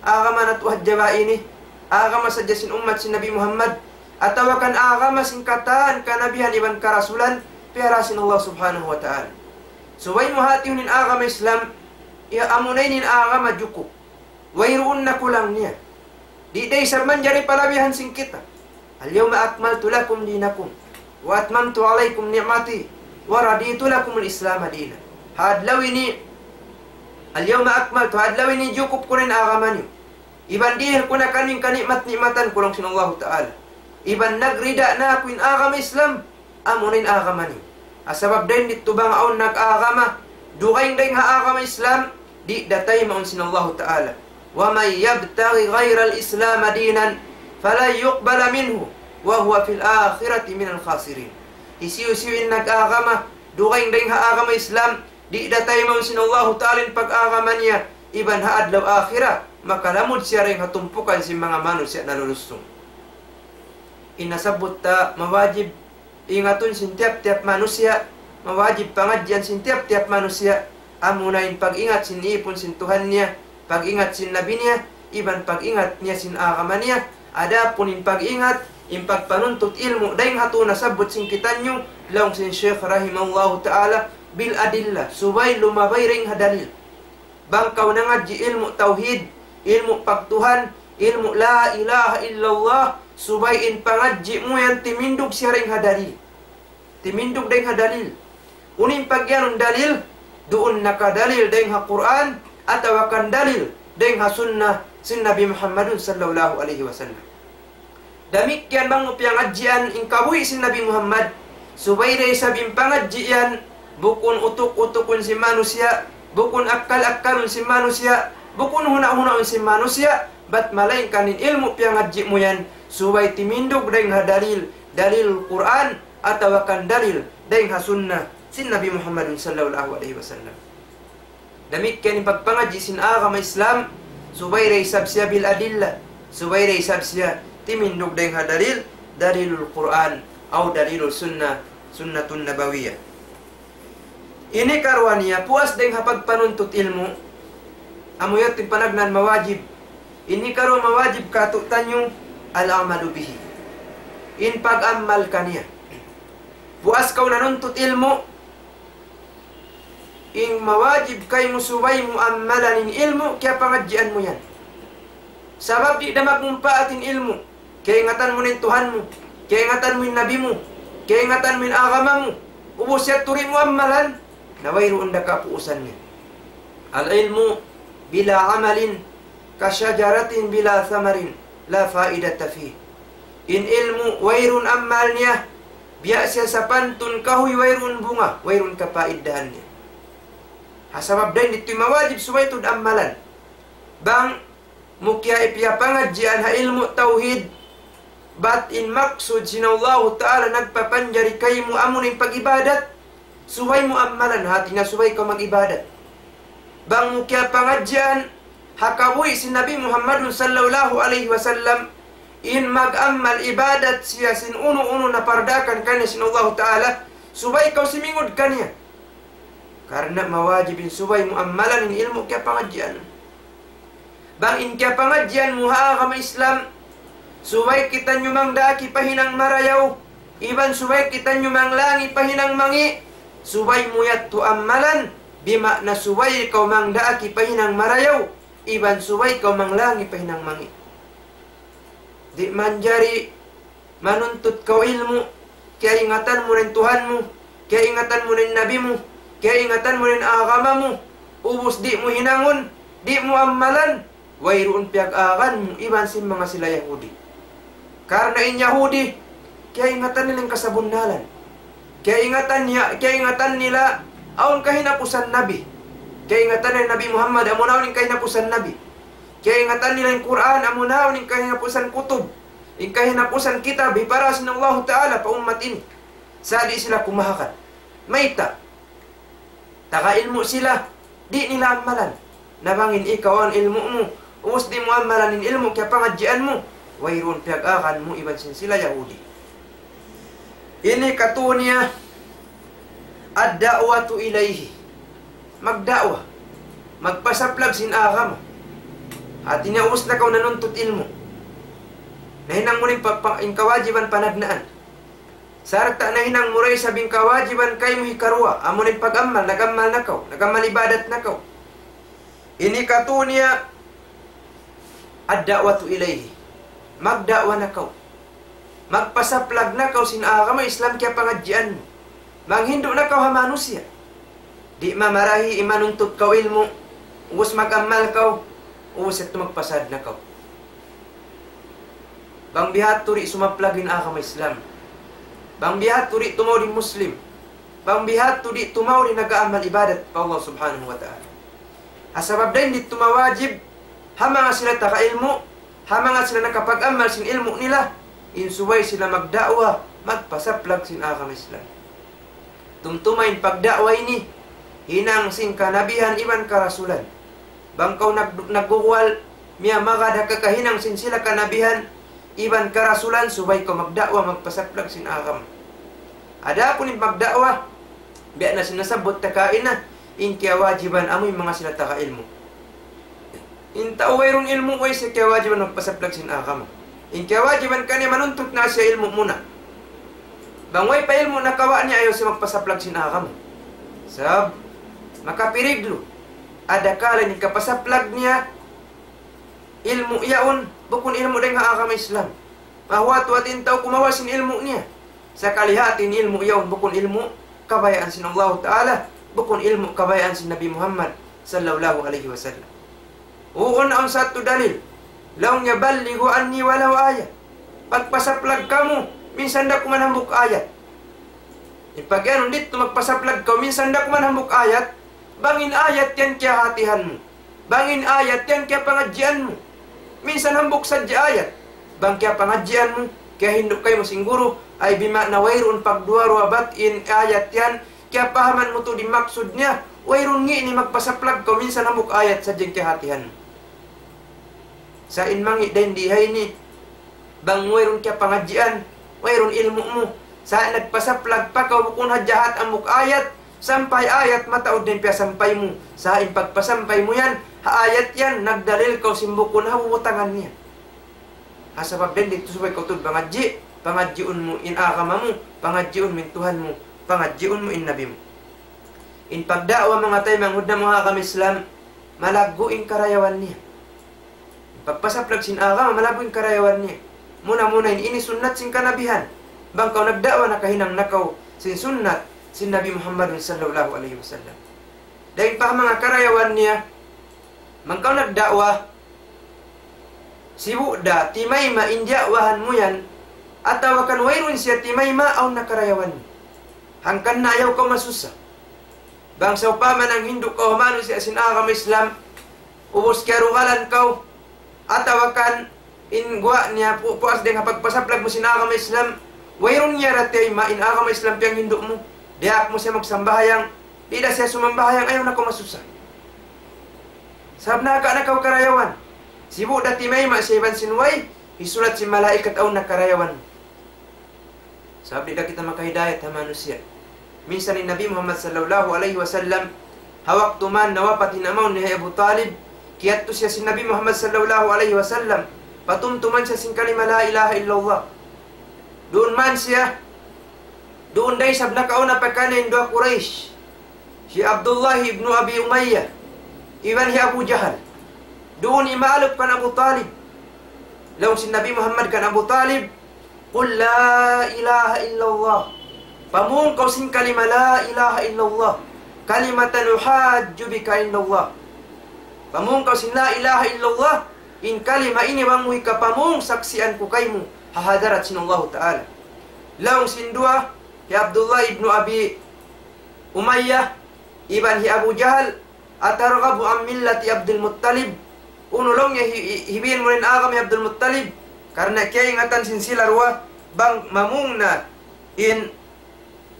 Agama natu' hadja ba ini. Agama sadja sin ummat sin Nabi Muhammad. Atawa kan agama sin katan kanabihan iban karasulan. Piyara sin Allah subhanahu wa ta'ala. Subay mu hatihun in agama Islam. Ya amuna ini in agama jukup. Wayruun na kulang niya. Di' da isab manjari palabihan sin kita. اليوم أكملت لكم دينكم وأتممت عليكم نعمتي ورضيت لكم الإسلام دينا. Ha adlaw ini, اليوم أكملت, ha adlaw ini jukup ku na in agama niyu. Iban dihil ku na kaniyu in kani'mat-ni'matan ku laung sin Allahu Ta'ala. Iban nagrida na aku in agama Islam. Amuna in agama niyu. Ha sabab dayn didtu bang awn nag-agama dugaing dayn ha agama Islam, di' da taymaun sin Allahu Ta'ala. ومن يبتغ غير الإسلام دينا فلن يقبل منه وهو في الآخرة من الخاسرين. Hisiyu-siyu in nag-agama dugaing dayn ha agama Islam, di' da taymaun sin Allahu Ta'ala in pag-agama niya, iban ha adlaw akhirat, makalamud siya dayn ha tumpukan sin manga manusiya' nalulusung. In nasabbut ta mawajib ingatun sin tiyap-tiyap manusiya', mawajib pangadjian sin tiyap-tiyap manusiya', amuna in pag-ingat sin ipun sin Tuhan niya, pag-ingat sin Nabi niya, iban pag-ingat niya sin agama niya. Adapun in pag-ingat, in pagpanuntut ilmu', dayn ha tu nasabbut sin kitaniyu, laung sin Shaykh rahimahullahu ta'ala, بالأدلة, subay lumabay dayn ha dalil. Bang kaw nangadji' ilmu' tawhid, ilmu' pagtuhan, ilmu' la ilaha illallah, subay in pangadji' mu yan timindug siya dayn ha dalil. Timindug dayn ha dalil. Unu in pagiyanun dalil, duun na ka dalil dayn ha Qur'an, atawa kan dalil dayn ha sunnah sin Nabi Muhammadun sallallahu alayhi wasallam. Damikkiyan bang mu piyangadjian in kabuhi' sin Nabi Muhammad, subay da isab in pangadji' yan, bukun utuk-utukun sin manusiya', bukun akkal-akkalun sin manusiya', bukun huna'-hunaun sin manusiya', bat malaingkan in ilmu' piyangadji' mu yan, subay timindug dayn ha dalil, dalil Qur'an, atawa kan dalil dayn ha sunnah sin Nabi Muhammadun sallallahu alayhi wasallam. Damikkiyan in pagpangadji' sin agama Islam, subay da isab siya بالأدلة, subay da isab siya timindug dayn ha dalil, dalilul Qur'an, aw dalilul sunnah, sunnatun nabawiyyah. Ini karuwa niya, puas dayn ha pagpanuntut ilmu', amu yadtu in panagnaan mawajib. Ini karuwa mawajib kātu'niyu, العمل به. In pag-amal kaniya. Puas kaw nanuntut ilmu', in mawajib kaymu subay mu ammalan in ilmu' kiyapangadjian mu yan. Sabab di' da magmumpaat in ilmu'. Kaingatan mu na in Tuhan mu. Kaingatan mu in Nabi mu. Kaingatan mu in agama mu. Ubus yadtu di' mu ammalan. Na wayruun da kapuusan niya. العلم بلا عمل كشجرة بلا ثمر لا فائدة فيه. In ilmu' wayruun ammal niya, biya' siya sapantun kahuy wayruun bunga, wayruun kapaiddahan niya. Ha sabab dayn didtu mawajib subay tuud ammalan. Bang mu kiya-, piyapangadjian ha ilmu' tawhid, bat in maksud sin Allahu Ta'ala nagpapanjari kaymu amuna in pag-ibadat, subay mu ammalan, hati niya subay kaw mag-ibadat. Bang mu kiyapangadjian ha kabuhi' sin Nabi Muhammadun sallallahu alayhi wasallam, in mag-ammal ibadat siya sin unu-unu na pardaakan kaniya sin Allahu Ta'ala, subay kaw simingud kaniya. Karna' mawajib in subay mu ammalan in ilmu' kiyapangadjian. Bang in kiyapangadjian mu ha agama Islam, subay kitaniyu mangdaak hipahinang marayaw, iban subay kitaniyu manglang hipahinang mangi', subay mu yadtu ammalan, bima'na subay kaw mangdaak hipahinang marayaw, iban subay kaw manglang hipahinang mangi'. Di' manjari manuntut kaw ilmu', kiyaingatan mu na in Tuhan mu, kiyaingatan mu na in Nabi mu, kiyaingatan mu na in agama mu, ubus di' mu hinangun, di' mu ammalan, wayruun piyag-agan mu iban sin manga sila Yahudi. Karna' in Yahudi, kiyaingatan nila in kasabunnalan. Kiyaingatan niya, kiyaingatan nila awn kahinapusan Nabi. Kiyaingatan nila Nabi Muhammad, amu na awn in kahinapusan Nabi. Kiyaingatan nila in Qur'an, amu na awn in kahinapusan kutub. In kahinapusan kitab, hipara sin Allahu Ta'ala pa ummat ini. Sa' di' sila kumahakan. Mayta'? Taga ilmu' sila, di' nila ammalan. Na bang in ikaw awn ilmu' mu, ubus di' mu ammalan in ilmu' kiyapangadjian mu, wayruun piyag-agan mu iban sin sila Yahudi. Ini katu' niya, ad-da'watu ilayhi. Magda'wa. Magpasaplag sin agama. Hati niya ubus na kaw nanuntut ilmu'. Nahinang mu na in pa-, pa-, in kawajiban panagnaan. Sarta' nahinang mu da isab in kawajiban kaymu hikaruwa, amu na in pag-ammal, nag-ammal na kaw, nag-ammal ibadat na kaw. Ini katu' niya ad-da'watu ilayhi. Magda'wa na kaw. Magpasaplag na kaw sin agama Islam kiyapangadjian mu. Manghindu' na kaw ha manusiya'. Di' mamarahi in manuntut kaw ilmu', ubus mag-ammal kaw, ubus yadtu magpasad na kaw. Bang bihadtu di' sumaplag in agama Islam. Bang bihadtu di' tumaud in Muslim. Bang bihadtu di' tumaud in nag-aamal ibadat pa Allah Subhanahu wa Ta'ala. Ha sabab dayn di' tumawajib, ha manga sila taga ilmu', ha manga sila nakapag-amal sin ilmu' nila, in subay sila magda'wa, magpasaplag sin agama Islam. Tumtuma in pagda'wa ini, hinang sin kanabihan iban karasulan. Bang kaw nag-, nagguguwal, miyamagad ha kakahinang sin sila kanabihan, iban karasulan, subay kaw magda'wa, magpasaplag sin agama. Adapun in pagda'wa, biya' na sin nasabbut ta kaina, in kiyawajiban amu in manga sila taga ilmu'. In tau wayruun ilmu', way siya kiyawajiban magpasaplag sin agama. In kiyawajiban kaniya manuntut na siya ilmu' muna. Bang way pa ilmu' nakawa' niya, ayaw siya magpasaplag sin agama. Sabab, makapiligru. Adakala in kapasaplag niya, ilmu' yaun, bukun ilmu' dayn ha agama Islam. Mahuwat-huwat in tau kumawa' sin ilmu' niya. Sakali hati in ilmu' yaun bukun ilmu' kabayaan sin Allahu Ta'ala, bukun ilmu' kabayaan sin Nabi Muhammad sallallahu alayhi wasallam. Uu, awn sa yadtu dalil. Laung niya, "Ballighu anni walaw ayah." Pagpasaplag kamu, minsan da kuman hambuuk ayat. In pag-iyanun didtu magpasaplag kaw, minsan da kuman hambuuk ayat, bang in ayat yan kiyahatihan mu. Bang in ayat yan kiyapangadjian mu. Minsan hambuuk sadja ayat. Bang kiyapangadjian mu, kiyahindu' kaymu sin guru, ay bima'na wayruun pagduwa-ruwa bat in ayat yan, kiyapahaman mu tuud in maksud niya, wayruun ngi' ini magpasaplag kaw minsan hambuuk ayat sadja in kiyahatihan mu. Sa' in mangi' dayn di ha ini, bang wayruun kiyapangadjian, wayruun ilmu' mu, sa' nagpasaplag pa kaw bukun ha jahat hambuuk ayat, sampay ayat mataud na in piyasampay mu, sa' in pagpasampay mu yan, ha ayat yan, nagdalil kaw sin bukun ha bubutangan niya. Ha sabab dayn didtu subay kaw tuud pangadji', pangadjiun mu in agama mu, pangadjiun mu in Tuhan mu, pangadjiun mu in Nabi mu. In pagda'wa manga taymanghud namu' ha agama Islam, malaggu' in karayawan niya. Pagpasaplag sin agama, malaggu' in karayawan niya. Muna-muna in ini sunnat sin kanabihan. Bang kaw nagda'wa, nakahinang na kaw sin sunnat sin Nabi Muhammadun sallallahu alayhi wasallam. Dayn pa manga karayawan niya, bang kaw nagda'wa, sibu' da timayma' in diya'wahan mu yan, atawa kan wayruun siya timayma', awn na karayawan niya. Hangkan na ayaw kaw masusa. Bang sawpama nanghindu' kaw ha manusiya' sin agama Islam, ubus kiyarugalan kaw, atawa kan in guwa' niya pu-, puas dayn ha pagpasaplag mu sin agama Islam, wayruun niya da tiyayma' in agama Islam piyanghindu' mu, diyaak mu siya magsambahayang, di' da siya sumambahayang, ayaw na kaw masusa. Sabab naka na kaw karayawan, sibu' da timayma' siya iban sin way, hisulat sin malaikat awn na karayawan. Sabab di' da kita makahidayat ha manusiya'. Minsan in Nabi Muhammad sallallahu alayhi wasallam, Ha waktu man nawapat in amaun niya hi Abu Talib, kiyadtu siya sin Nabi Muhammad sallallahu alayhi wasallam, patumtuman siya sin kalima la ilaha illallah. Duun man siya, duun da isab nakauna pa kaniya in duwa Quraysh, hi Abdullah ibn Abi Umayyah, iban hi Abu Jahal. Duun imaalup kan Abu Talib. Laung sin Nabi Muhammad kan Abu Talib, قل لا إله إلا الله. Pamung kaw sin kalima la ilaha illallah. كلمة أحاج بك عند الله. Pamung kaw sin la ilaha illallah. In kalima ini bang mu hikapamung saksian ku kaymu ha hadarat sin Allahu Ta'ala. Laung sin duwa, hi Abdullah ibn Abi Umayyah, iban hi Abu Jahal, أترغب عن ملة عبد المطلب؟ Unu laung niya hi-, hi-, hibiin mu in agama hi Abdul Muttalib? Karna' kiyaingatan sin sila duwa, bang mamung na in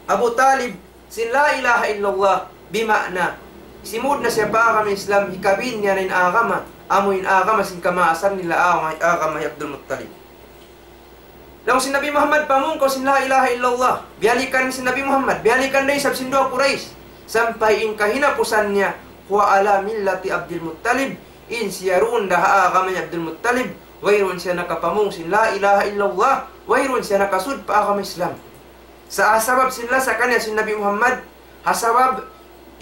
Abu Talib sin la ilaha illallah, bima'na, simud na siya pa agama Islam, hikabin niya na in agama, amu in agama sin kamaasan nila agama, agama hi Abdul Muttalib. Laung sin Nabi Muhammad, pamung kaw sin la ilaha illallah. Biyalikan sin Nabi Muhammad, biyalikan da isab sin duwa Quraysh. Sampay in kahinapusan niya, هو على ملة عبد المطلب. In siya duun da ha agama hi Abdul Muttalib. Wayruun siya nakapamung sin la ilaha illallah. Wayruun siya nakasud pa agama Islam. Sa' ha sabab sin lasa kaniya sin Nabi Muhammad, ha sabab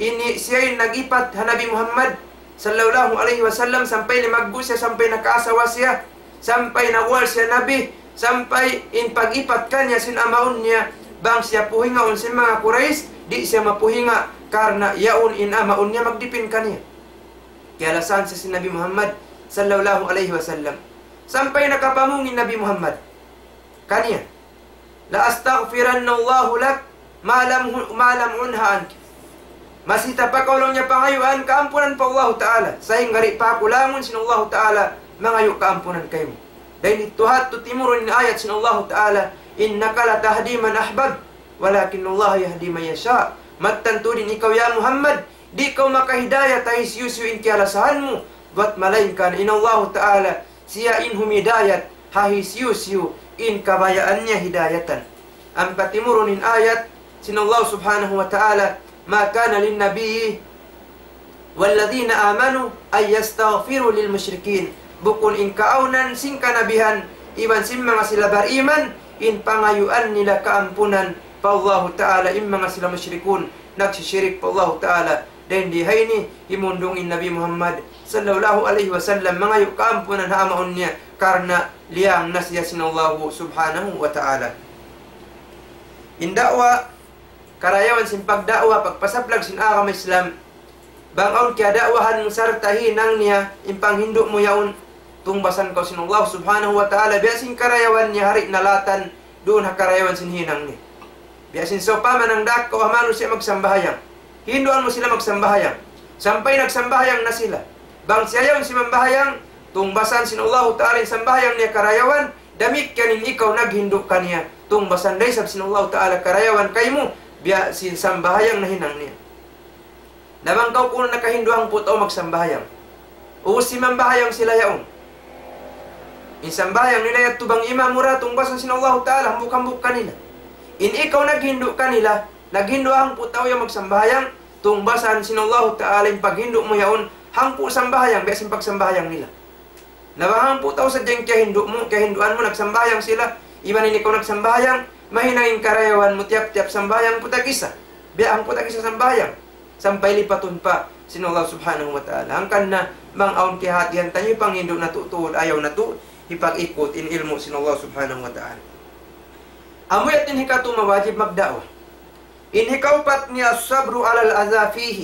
ini siya in nag-ipat ha Nabi Muhammad sallallahu alayhi wasallam, sampay limaggu' siya, sampay nakaasawa siya, sampay nagwal siya Nabi, sampay in pag-ipat kaniya sin amaun niya, bang siya puhingaun sin manga Quraysh, di' siya mapuhinga, karna' yaun in amaun niya magdipin kaniya. Kiyalasahan siya sin Nabi Muhammad sallallahu alayhi wasallam. Sampay nakapamung in Nabi Muhammad kaniya, لأستغفرن الله لك ما لم، ما لم أنه عنك. Masi ta pa kaw laung niya pangayuan kaampunan pa Allahu Ta'ala. Sahingga di' pa aku langun sin Allahu Ta'ala mangayu' kaampunan kaymu. Dayn didtu ha yadtu timurun in ayat sin Allahu Ta'ala, إنك لا تهدي من أحببت ولكن الله يهدي من يشاء. Mattan tuud in ikaw ya Muhammad, di' kaw makahidayat ha hisiyu-siyu in kiyalasahan mu, bat malaingkan in Allahu Ta'ala, siya in humidayat ha hisiyu-siyu in kabayaan niya hidayatan. Ampa timurun in ayat sin Allah Subhanahu wa Ta'ala, ما كان للنبي والذين آمنوا أن يستغفروا للمشركين. Bukun in kaawnan sin kanabihan iban sin manga sila bariman, in pangayuan nila kaampunan pa Allahu Ta'ala in manga sila mushrikun, nagsishirik pa Allahu Ta'ala. Dayn di ha ini, himundung in Nabi Muhammad sallallahu alayhi wasallam mangayu' kaampunan ha amaun niya, karna' liyang na siya sin Allahu Subhanahu wa Ta'ala. In da'wa, karayawan sin pagda'wa, pagpasaplag sin agama Islam, bang awn kiyada'wahan mu sarta' hinang niya in panghindu' mu yaun, tungbasan kaw sin Allah Subhanahu wa Ta'ala, biya' sin karayawan niya ha di' nalatan, duun ha karayawan sin hinang niya. Biya' sin sawpama nangdaak kaw ha manusiya' magsambahayang. Hinduan mu sila magsambahayang. Sampay nagsambahayang na sila. Bang siya yaun simambahayang, tungbasan sin Allahu Ta'ala in sambahayang niya karayawan, damikkiyan in ikaw naghindu' kaniya. Tungbasan da isab sin Allahu Ta'ala karayawan kaymu, biya' sin sambahayang nahinang niya. Na bang kaw kunu' nakahindu' hangpu' tau magsambahayang. Ubus simambahayang sila yaun. In sambahayang nila yadtu bang imam mu ra, tungbasan sin Allahu Ta'ala, hambuuk-hambuuk kanila. In ikaw naghindu' kanila, naghindu' hangpu' tau yan magsambahayang, tungbasan sin Allahu Ta'ala in paghindu' mu yaun, hangpu' sambahayang, biya' sin pagsambahayang nila. Na bang hangpu' tau sadja in kiyahindu' mu, kiyahinduan mu, nagsambahayang sila, iban in ikaw nagsambahayang, mahinang in karayawan mu tiyap-tiyap sambahayang hangpu' tag-isa. Biya' hangpu' tag-isa sambahayang. Sampay lipatun pa sin Allah Subhanahu wa Ta'ala. Hangkan na, bang awn kiyahatihan taniyu, panghindu' natu' tuud, ayaw natu' hipag-ikut in ilmu' sin Allah Subhanahu wa Ta'ala. Amu yadtu in hikatu mawajib magda'wa. In hikaupat niya الصبر على الأذى فيه.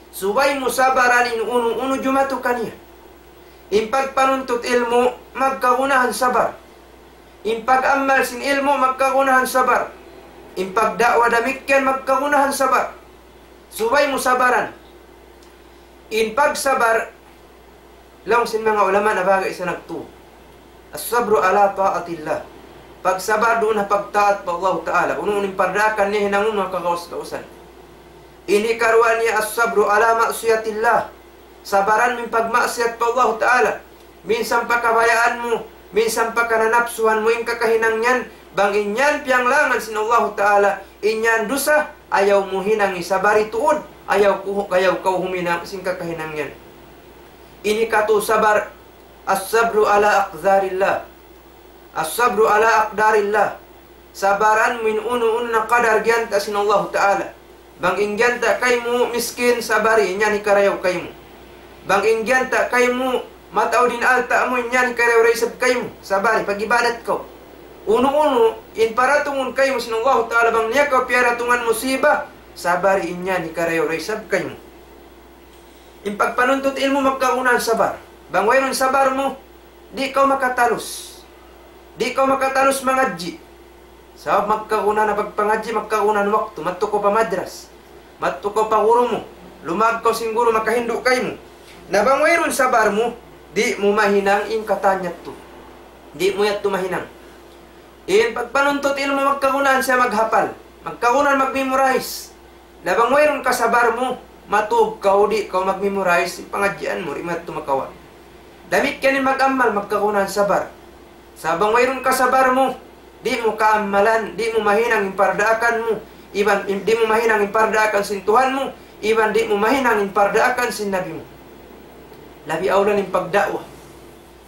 Subay mu sabaran in unu-unu jumatu kaniya. In pagpanuntut ilmu', magkagunahan sabar. In pag-amal sin ilmu', magkagunahan sabar. In pagda'wa damikkiyan, magkagunahan sabar. Subay mu sabaran. In pagsabar, laung sin manga ulama na bagay sa nagtu. الصبر على طاعة الله. Pagsabar duun ha pagtaat pa Allahu Ta'ala. Unu-unu in pardaakan niya hinangun mu ha kagaus-gausan. In hikaruwa niya الصبر على معصية الله. Sabaran mu in pagmaksiyat pa Allahu Ta'ala. Minsan pa kabayaan mu, minsan pa kananapsuhan mu in kakahinang yan, bang in yan piyanglangan sin Allahu Ta'ala, in yan dusa, ayaw mu hinangi, sabari tuud. Ayaw ku, ayaw kaw huminang sin kakahinang yan. Ini katu' sabar, الصبر على أقدار الله. الصبر على أقدار الله. Sabaran mu in unu-unu na kadar giyanta' sin Allahu Ta'ala. Bang in giyanta' kaymu miskin, sabari, in yan hikarayaw kaymu. Bang in giyanta' kaymu mataud in alta' mu, in yan hikarayaw da isab kaymu. Sabari, pag-ibadat kaw. Unu-unu in paratungun kaymu sin Allahu Ta'ala, bang niya kaw piyaratungan musiba, sabari, in yan hikarayaw da isab kaymu. In pagpanuntut ilmu' magkagunahan sabar. Bang wayruun sabar mu, di' kaw makatalus. Di' kaw makatalus mangadji'. Sabab magkagunahan na pagpangadji', magkagunahan waktu, madtu kaw pa madras, madtu kaw pa guru mu, lumag kaw sin guru makahindu' kaymu. Na bang wayruun sabar mu, di' mu mahinang in katan yadtu. Di' mu yadtu mahinang. In pagpanuntut ilmu' magkagunahan siya maghapal, magkagunahan mag-memorize. Na bang wayruun kasabar mu, matug kaw, di' kaw mag-memorize, in pangadjian mu, di' mu yadtu makawa'. Damikkiyan in mag-amal, magkagunahan sabar. Sa' bang wayruun kasabar mu, di' mu kaamalan, di' mu mahinang in pardaakan mu, iban, di' mu mahinang in pardaakan sin Tuhan mu, iban di' mu mahinang in pardaakan sin Nabi mu. Labi awla in pagda'wa.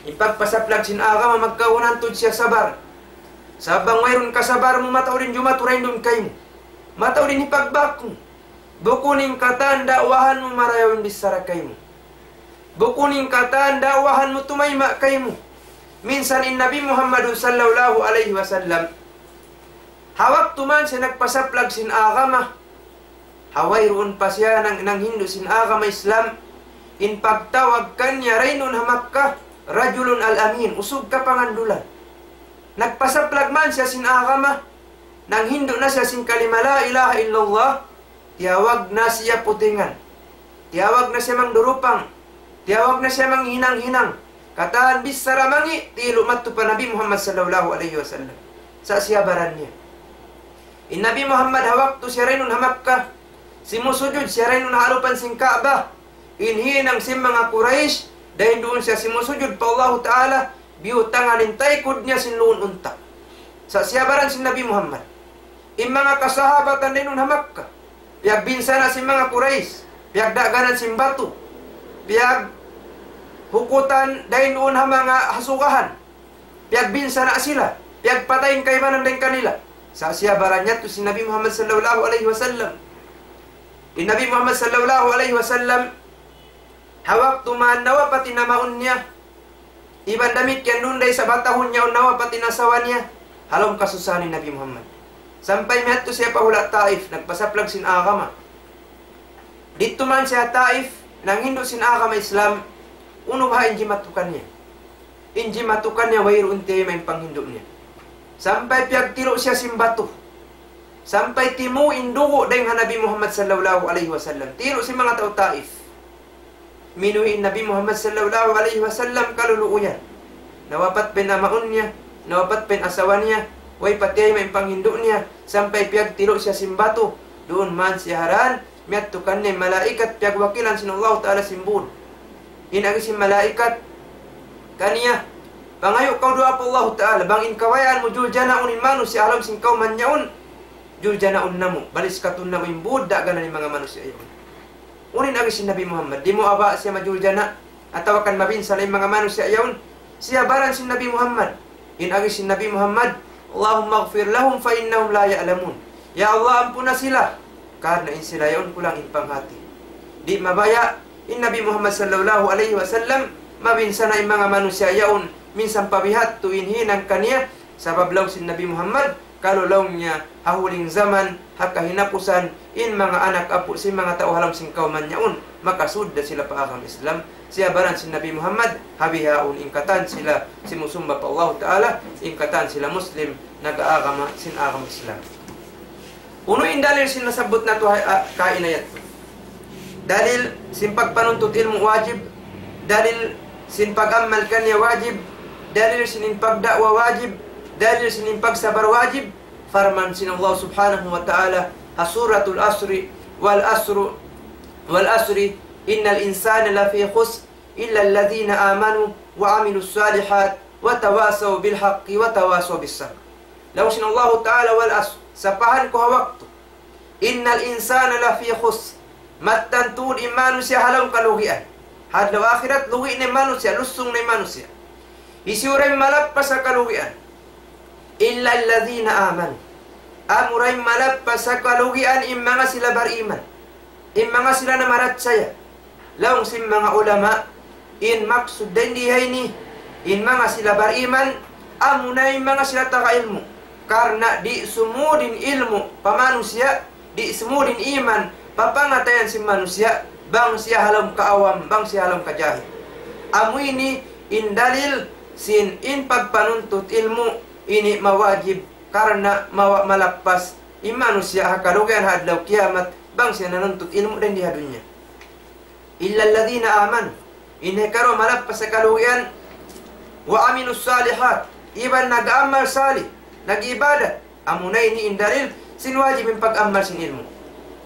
In pagpasaplag sin agama magkagunahan tuud siya sabar. Sa' bang wayruun kasabar mu, mataud in jumatu dayn duun kaymu. Mataud in hipagbak mu. Bukun in katan da'wahan mu marayaw in bichara kaymu. Bukun in katan da'wahan mu tumayma' kaymu. Minsan in Nabi Muhammadun sallallahu alayhi wasallam, ha waktu man siya nagpasaplag sin agama, ha wayruun pa siya nang, nanghindu' sin agama Islam, in pagtawag kaniya dayn duun ha Makkah, رجل الأمين, usug kapangandulan. Nagpasaplag man siya sin agama, nanghindu' na siya sin kalima la ilaha illallah, tiyawag na siya putingan. Tiyawag na siya mangdurupang. Tiyawag na siya manghinang-hinang. Katan bichara mangi', tilu' madtu pa Nabi Muhammad sallallahu alayhi wasallam. Sa' siyabaran niya. In Nabi Muhammad ha waktu siya dayn duun ha Makkah, simusujud siya dayn duun ha alupan sin Ka'bah. In hinang sin manga Quraysh, dayn duun siya simusujud pa Allahu Ta'ala, biyutangan in taykud niya sin luun unta'. Sa' siyabaran sin Nabi Muhammad. In manga kasahabatan dayn duun ha Makkah, piyagbinsana' sin manga Quraysh, piyagdaganan sin batu, piyaghukutan dayn duun ha manga hasugahan, piyagbinsana' sila, piyagpatay in kaibanan dayn kanila. Sa' siyabaran yadtu sin Nabi Muhammad sallallahu alayhi wasallam. In Nabi Muhammad sallallahu alayhi wasallam, ha waktu man nawapat in amaun niya, iban damikkiyan duun da isab ha tahun yaun nawapat in asawa niya, ha lawm kasusahan in Nabi Muhammad. Sampay miyadtu siya pa hula' Taif, nagpasaplag sin agama. Didtu man siya ha Taif, nanghindu' sin agama Islam, unu baha' in jimatu kaniya. In jimatu kaniya wayruun tiyayma' in panghindu' niya. Sampay piyagtilu' siya sin batu. Sampay timu' in dugu' dayng ha Nabi Muhammad sallallahu alayhi wasallam. Tilu' sin manga tau Taif. Minuwi' in Nabi Muhammad sallallahu alayhi wasallam kaluluuyan. Nawapat pa in amaun niya, nawapat pa in asawa niya, way pa tiyayma' in panghindu' niya, sampay piyagtilu' siya sin batu. Duun man siya ha dan, miyadtu kaniya in malaikat piyagwakilan sin Allahu Ta'ala sin būd. In agi sin malaikat kaniya, pangayu' kaw duwaa pa Allahu Ta'ala, bang in kabayaan mu juljanaun in manusiya' ha lawm sin kawman yaun, juljanaun namu', baliskatun namu' in būd daganan in manga manusiya' yaun. Unu in agi sin Nabi Muhammad, di' mu ba siya majuljana', atawa kan mabinsana' in manga manusiya' yaun? Siyabaran sin Nabi Muhammad. In agi sin Nabi Muhammad, اللهم اغفر لهم فإنهم لا يعلمون. Ya Allah, ampuna sila, karna' in sila yaun kulang in panghati. Di' mabaya' in Nabi Muhammad sallallahu alayhi wasallam mabinsana' in manga manusiya' yaun, minsan pa bihadtu in hinang kaniya, sabab laung sin Nabi Muhammad, kalu laung niya, ha huling jaman, ha kahinapusan, in manga anak apu' sin manga tau ha lawm sin kawman yaun, makasud da sila pa agama Islam. Siyabaran sin Nabi Muhammad, ha bihaun in katan sila simusumba pa Allahu Ta'ala, in katan sila Muslim, nag-aagama sin agama Islam. Unu in dalil sin nasabbut natu' ha, ha, kaina yadtu? Dalil sin pagpanuntut ilmu' wajib, dalil sin pag-amal kaniya wajib, dalil sin in pagda'wa wajib, dalil sin in pagsabar wajib. Parman sin Allah subhanahu wa ta'ala ha Suratul Asri, والعصر، والعصر، إن الإنسان لفي خسر، إلا الذين آمنوا وعملوا الصالحات وتواصوا بالحق وتواصوا بالصبر. Laung sin Allahu Ta'ala, والعصر, sapahan ku ha waktu. إن الإنسان لفي خسر. Mattan tuud in manusiya' ha lawm kalugian. Ha adlaw akhirat, lugi' na in manusiya', lusung na in manusiya'. Hisiyu da in malappas ha kalugian? إلا الذين آمنوا. Amura in malappas ha kalugian in manga sila bariman. In manga sila namarachaya. Laung sin manga ulama, in maksud dayn di ha ini, in manga sila bariman, amuna in manga sila taga ilmu'. Karna' di' sumud in ilmu' pa manusiya', di' sumud in iman pa pangatayan sin manusiya', bang siya ha lawm kaawam, bang siya ha lawm kajahil. Amu ini in dalil sin in pagpanuntut ilmu' ini mawajib, karna' mawa-, malappas in manusiya' ha kalugian ha adlaw kiyamat, bang siya nanuntut ilmu' dayn di ha dunya. إلا الذين آمنوا. In hikaruwa malappas ha kalugian, وعملوا الصالحات. Iban nag-amal salih, nag-ibadat. Amuna ini in dalil sin wajib in pag-amal sin ilmu'.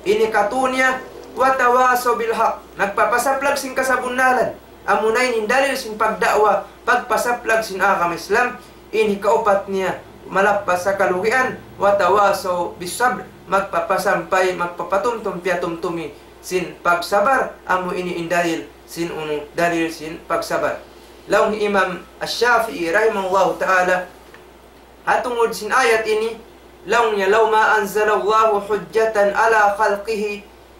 Ini katu niya, وتواصوا بالحق. Nagpapasaplag sin kasabunnalan. Amuna ini in dalil sin pagda'wa, pagpasaplag sin agama Islam. Ini kaupat niya, malappas ha kalugian, وتواصوا بالصبر. Magpapasampay, magpapatumtum, piyatumtumi sin pagsabar, amu ini in dalil sin unu, dalil sin pagsabar. Laung Imam Ash-Shafi'i rahimahullahu ta'ala, ha tungud sin ayat ini, laung niya, لو ما أنزل الله حجة على خلقه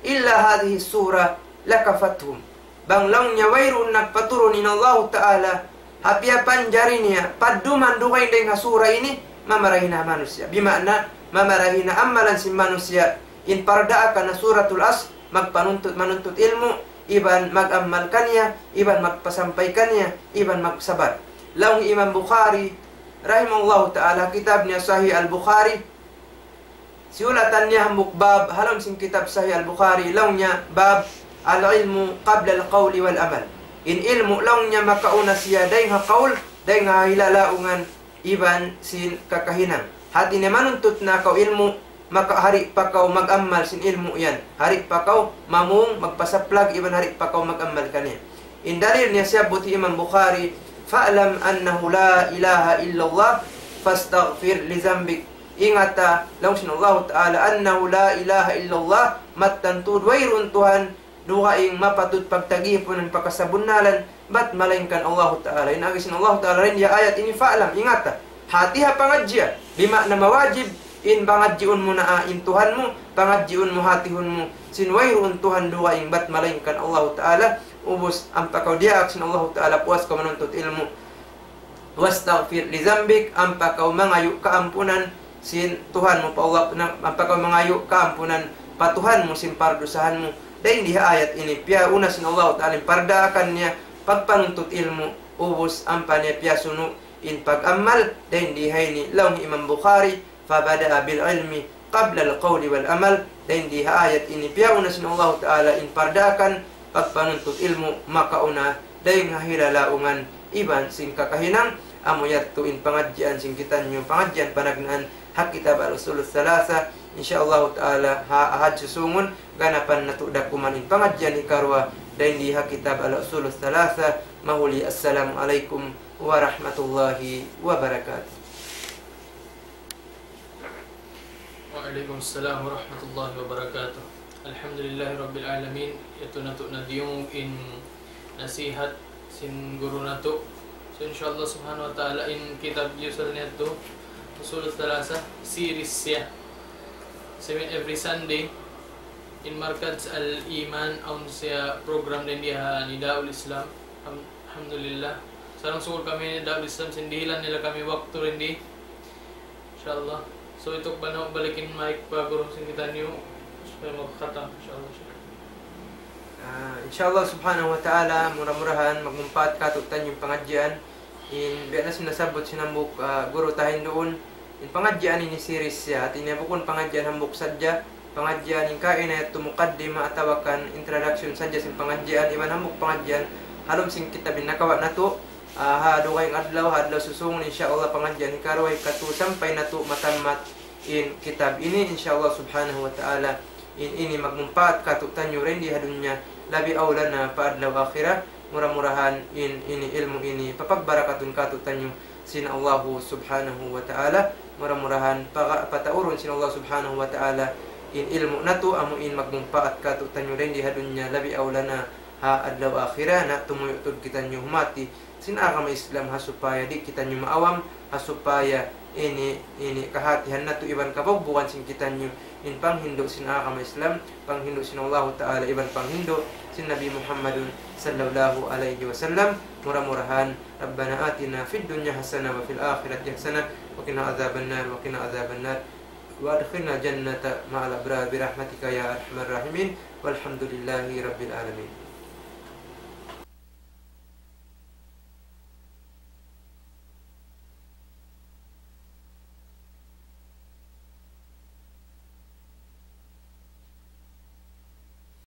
إلا هذه السورة لكفتهم. Bang laung niya wayruun nagpaturun in Allahu Ta'ala, ha piyapanjari niya, padduman dugaing dayn ha sura ini, mamarahi na manusiya'. Bima'na, mamarahi na amalan sin manusiya', in pardaakan na Suratul Asr, magpanuntut, manuntut ilmu', iban mag-amal kaniya, iban magpasampay kaniya, iban magsabar. Laung Imam Bukhari, rahimahullahu ta'ala, kitab niya Sahih Al-Bukhari, siyulatan niya hambuuk bab, ha lawm sin kitab Sahih Al-Bukhari, laung niya, باب العلم قبل القول والعمل. In ilmu' laung niya makauna siya dayn ha qawl, dayn ha hilalaungan, iban sin kakahinang. Hati niya manuntut na kaw ilmu', maka hari pa kaw mag-amal sin ilmu' yan. Hari pa kaw mamung, magpasaplag, iban hari pa kaw mag-amal kaniya. In dalil niya siyabbut hi Imam Bukhari, فاعلم أنه لا إله إلا الله فاستغفر لذنبك. Ingata, laung sin Allahu Ta'ala, أنه لا إله إلا الله, mattan tuud wayruun Tuhan dugaing mapatut pagtagipunan pa kasabunnalan, bat malaingkan Allahu Ta'ala. In agi sin Allahu Ta'ala dayn di ha ayat ini, فاعلم, ingata. Hati ha pangadjian, bima'na mawajib, in pangadjiun mu na, ah, in Tuhan mu, pangadjiun mu, hatihun mu, sin wayruun Tuhan dugaing bat malaingkan Allahu Ta'ala, ubus ampa kaw diyaak sin Allahu Ta'ala, puas kaw manuntut ilmu'. واستغفر لذنبك, ampa kaw mangayu' kaampunan sin Tuhan mu pa Allah, na, ampa kaw mangayu' kaampunan pa Tuhan mu sin pardusahan mu. Dayn di ha ayat ini, piyauna sin Allahu Ta'ala in pardaakan niya, pagpanuntut ilmu', ubus ampa niya piyasunu' in pag-amal, dayn di ha ini, laung Imam Bukhari, فبدأ بالعلم قبل القول والعمل, dayn di ha ayat ini, piyauna sin Allahu Ta'ala in pardaakan, pagpanuntut ilmu', makauna dayn ha hilalaungan iban sin kakahinang, amu yadtu in pangadjian sin kitaniyu, pangadjian panagnaan ha kitab Al-Usul Thalatha. Insya Allahu Ta'ala, ha Ahad susungun, ganapan natu' dakuman in pangadjian hikaruwa, dayn di ha kitab Al-Usul Thalatha. Mahuli, assalamu alaykum warahmatullahi wabarakatuh. وعليكم السلام ورحمة الله وبركاته. الحمد لله رب العالمين. Yadtu natu' na diyungug in nasihat sin guru natu'. So, insya Allah subhanahu wa ta'ala, in kitab Yusal niyadtu, Usul Thalatha, series siya. So, in every Sunday, in Markaz Al-Iman, awn siya program dayn di ha Nidaul Islam. Alham-, alhamdulillah. Sarang-sukul kami Nidaul Islam, sin dihilan nila kami waktu dayn di. Insya Allah. So, ituk bana balik in mic pa guru sin kitaniyu, supaya makakhatam, insya Allah. Ah, insya Allah subhanahu wa ta'ala, mura-murahan magmumpaat katu'taniyu in pangadjian. In biya' na sin nasabbut sin hambuuk, ah, guru ta hinduun, in pangadjian ini series siya. Hati niya bukun pangadjian hambuuk sadja, pangadjian in kaina yadtu mukaddima atawa kan introduction sadja sin pangadjian, iban hambuuk pangadjian ha lawm sin kitab in nakawa' natu', ah, ha dugaing adlaw, ha adlaw susungun, insya Allah, pangadjian hikaruwa, hikatu, sampay natu' matammat in kitab ini, insya Allah subhanahu wa ta'ala. In ini magmumpaat katu'taniyu dayn di ha dunya, labi awla na pa adlaw akhirat. Mura-murahan in ini ilmu' ini papagbarakatun katu'taniyu sin Allahu subhanahu wa ta'ala. Mura-murahan paga-, pataurun sin Allah subhanahu wa ta'ala in ilmu' natu' amu in magmumpaat kātu'niyu dayn di ha dunya labi awla na ha adlaw akhirat na tumuyu' tuud kitaniyu humati sin agama Islam ha supaya di' kitaniyu maawam, ha supaya ini, ini kahātihan natu' iban kabugbugan sin kitaniyu in panghindu' sin agama Islam, panghindu' sin Allahu Ta'ala iban panghindu' sin Nabi Muhammadun sallallahu alayhi wasallam. Mura-murahan, ربنا آتنا في الدنيا حسنة وفي الآخرة حسنة وقنا عذاب النار وقنا عذاب النار وأدخلنا الجنة مع الأبرار برحمتك يا أرحم الراحمين والحمد لله رب العالمين.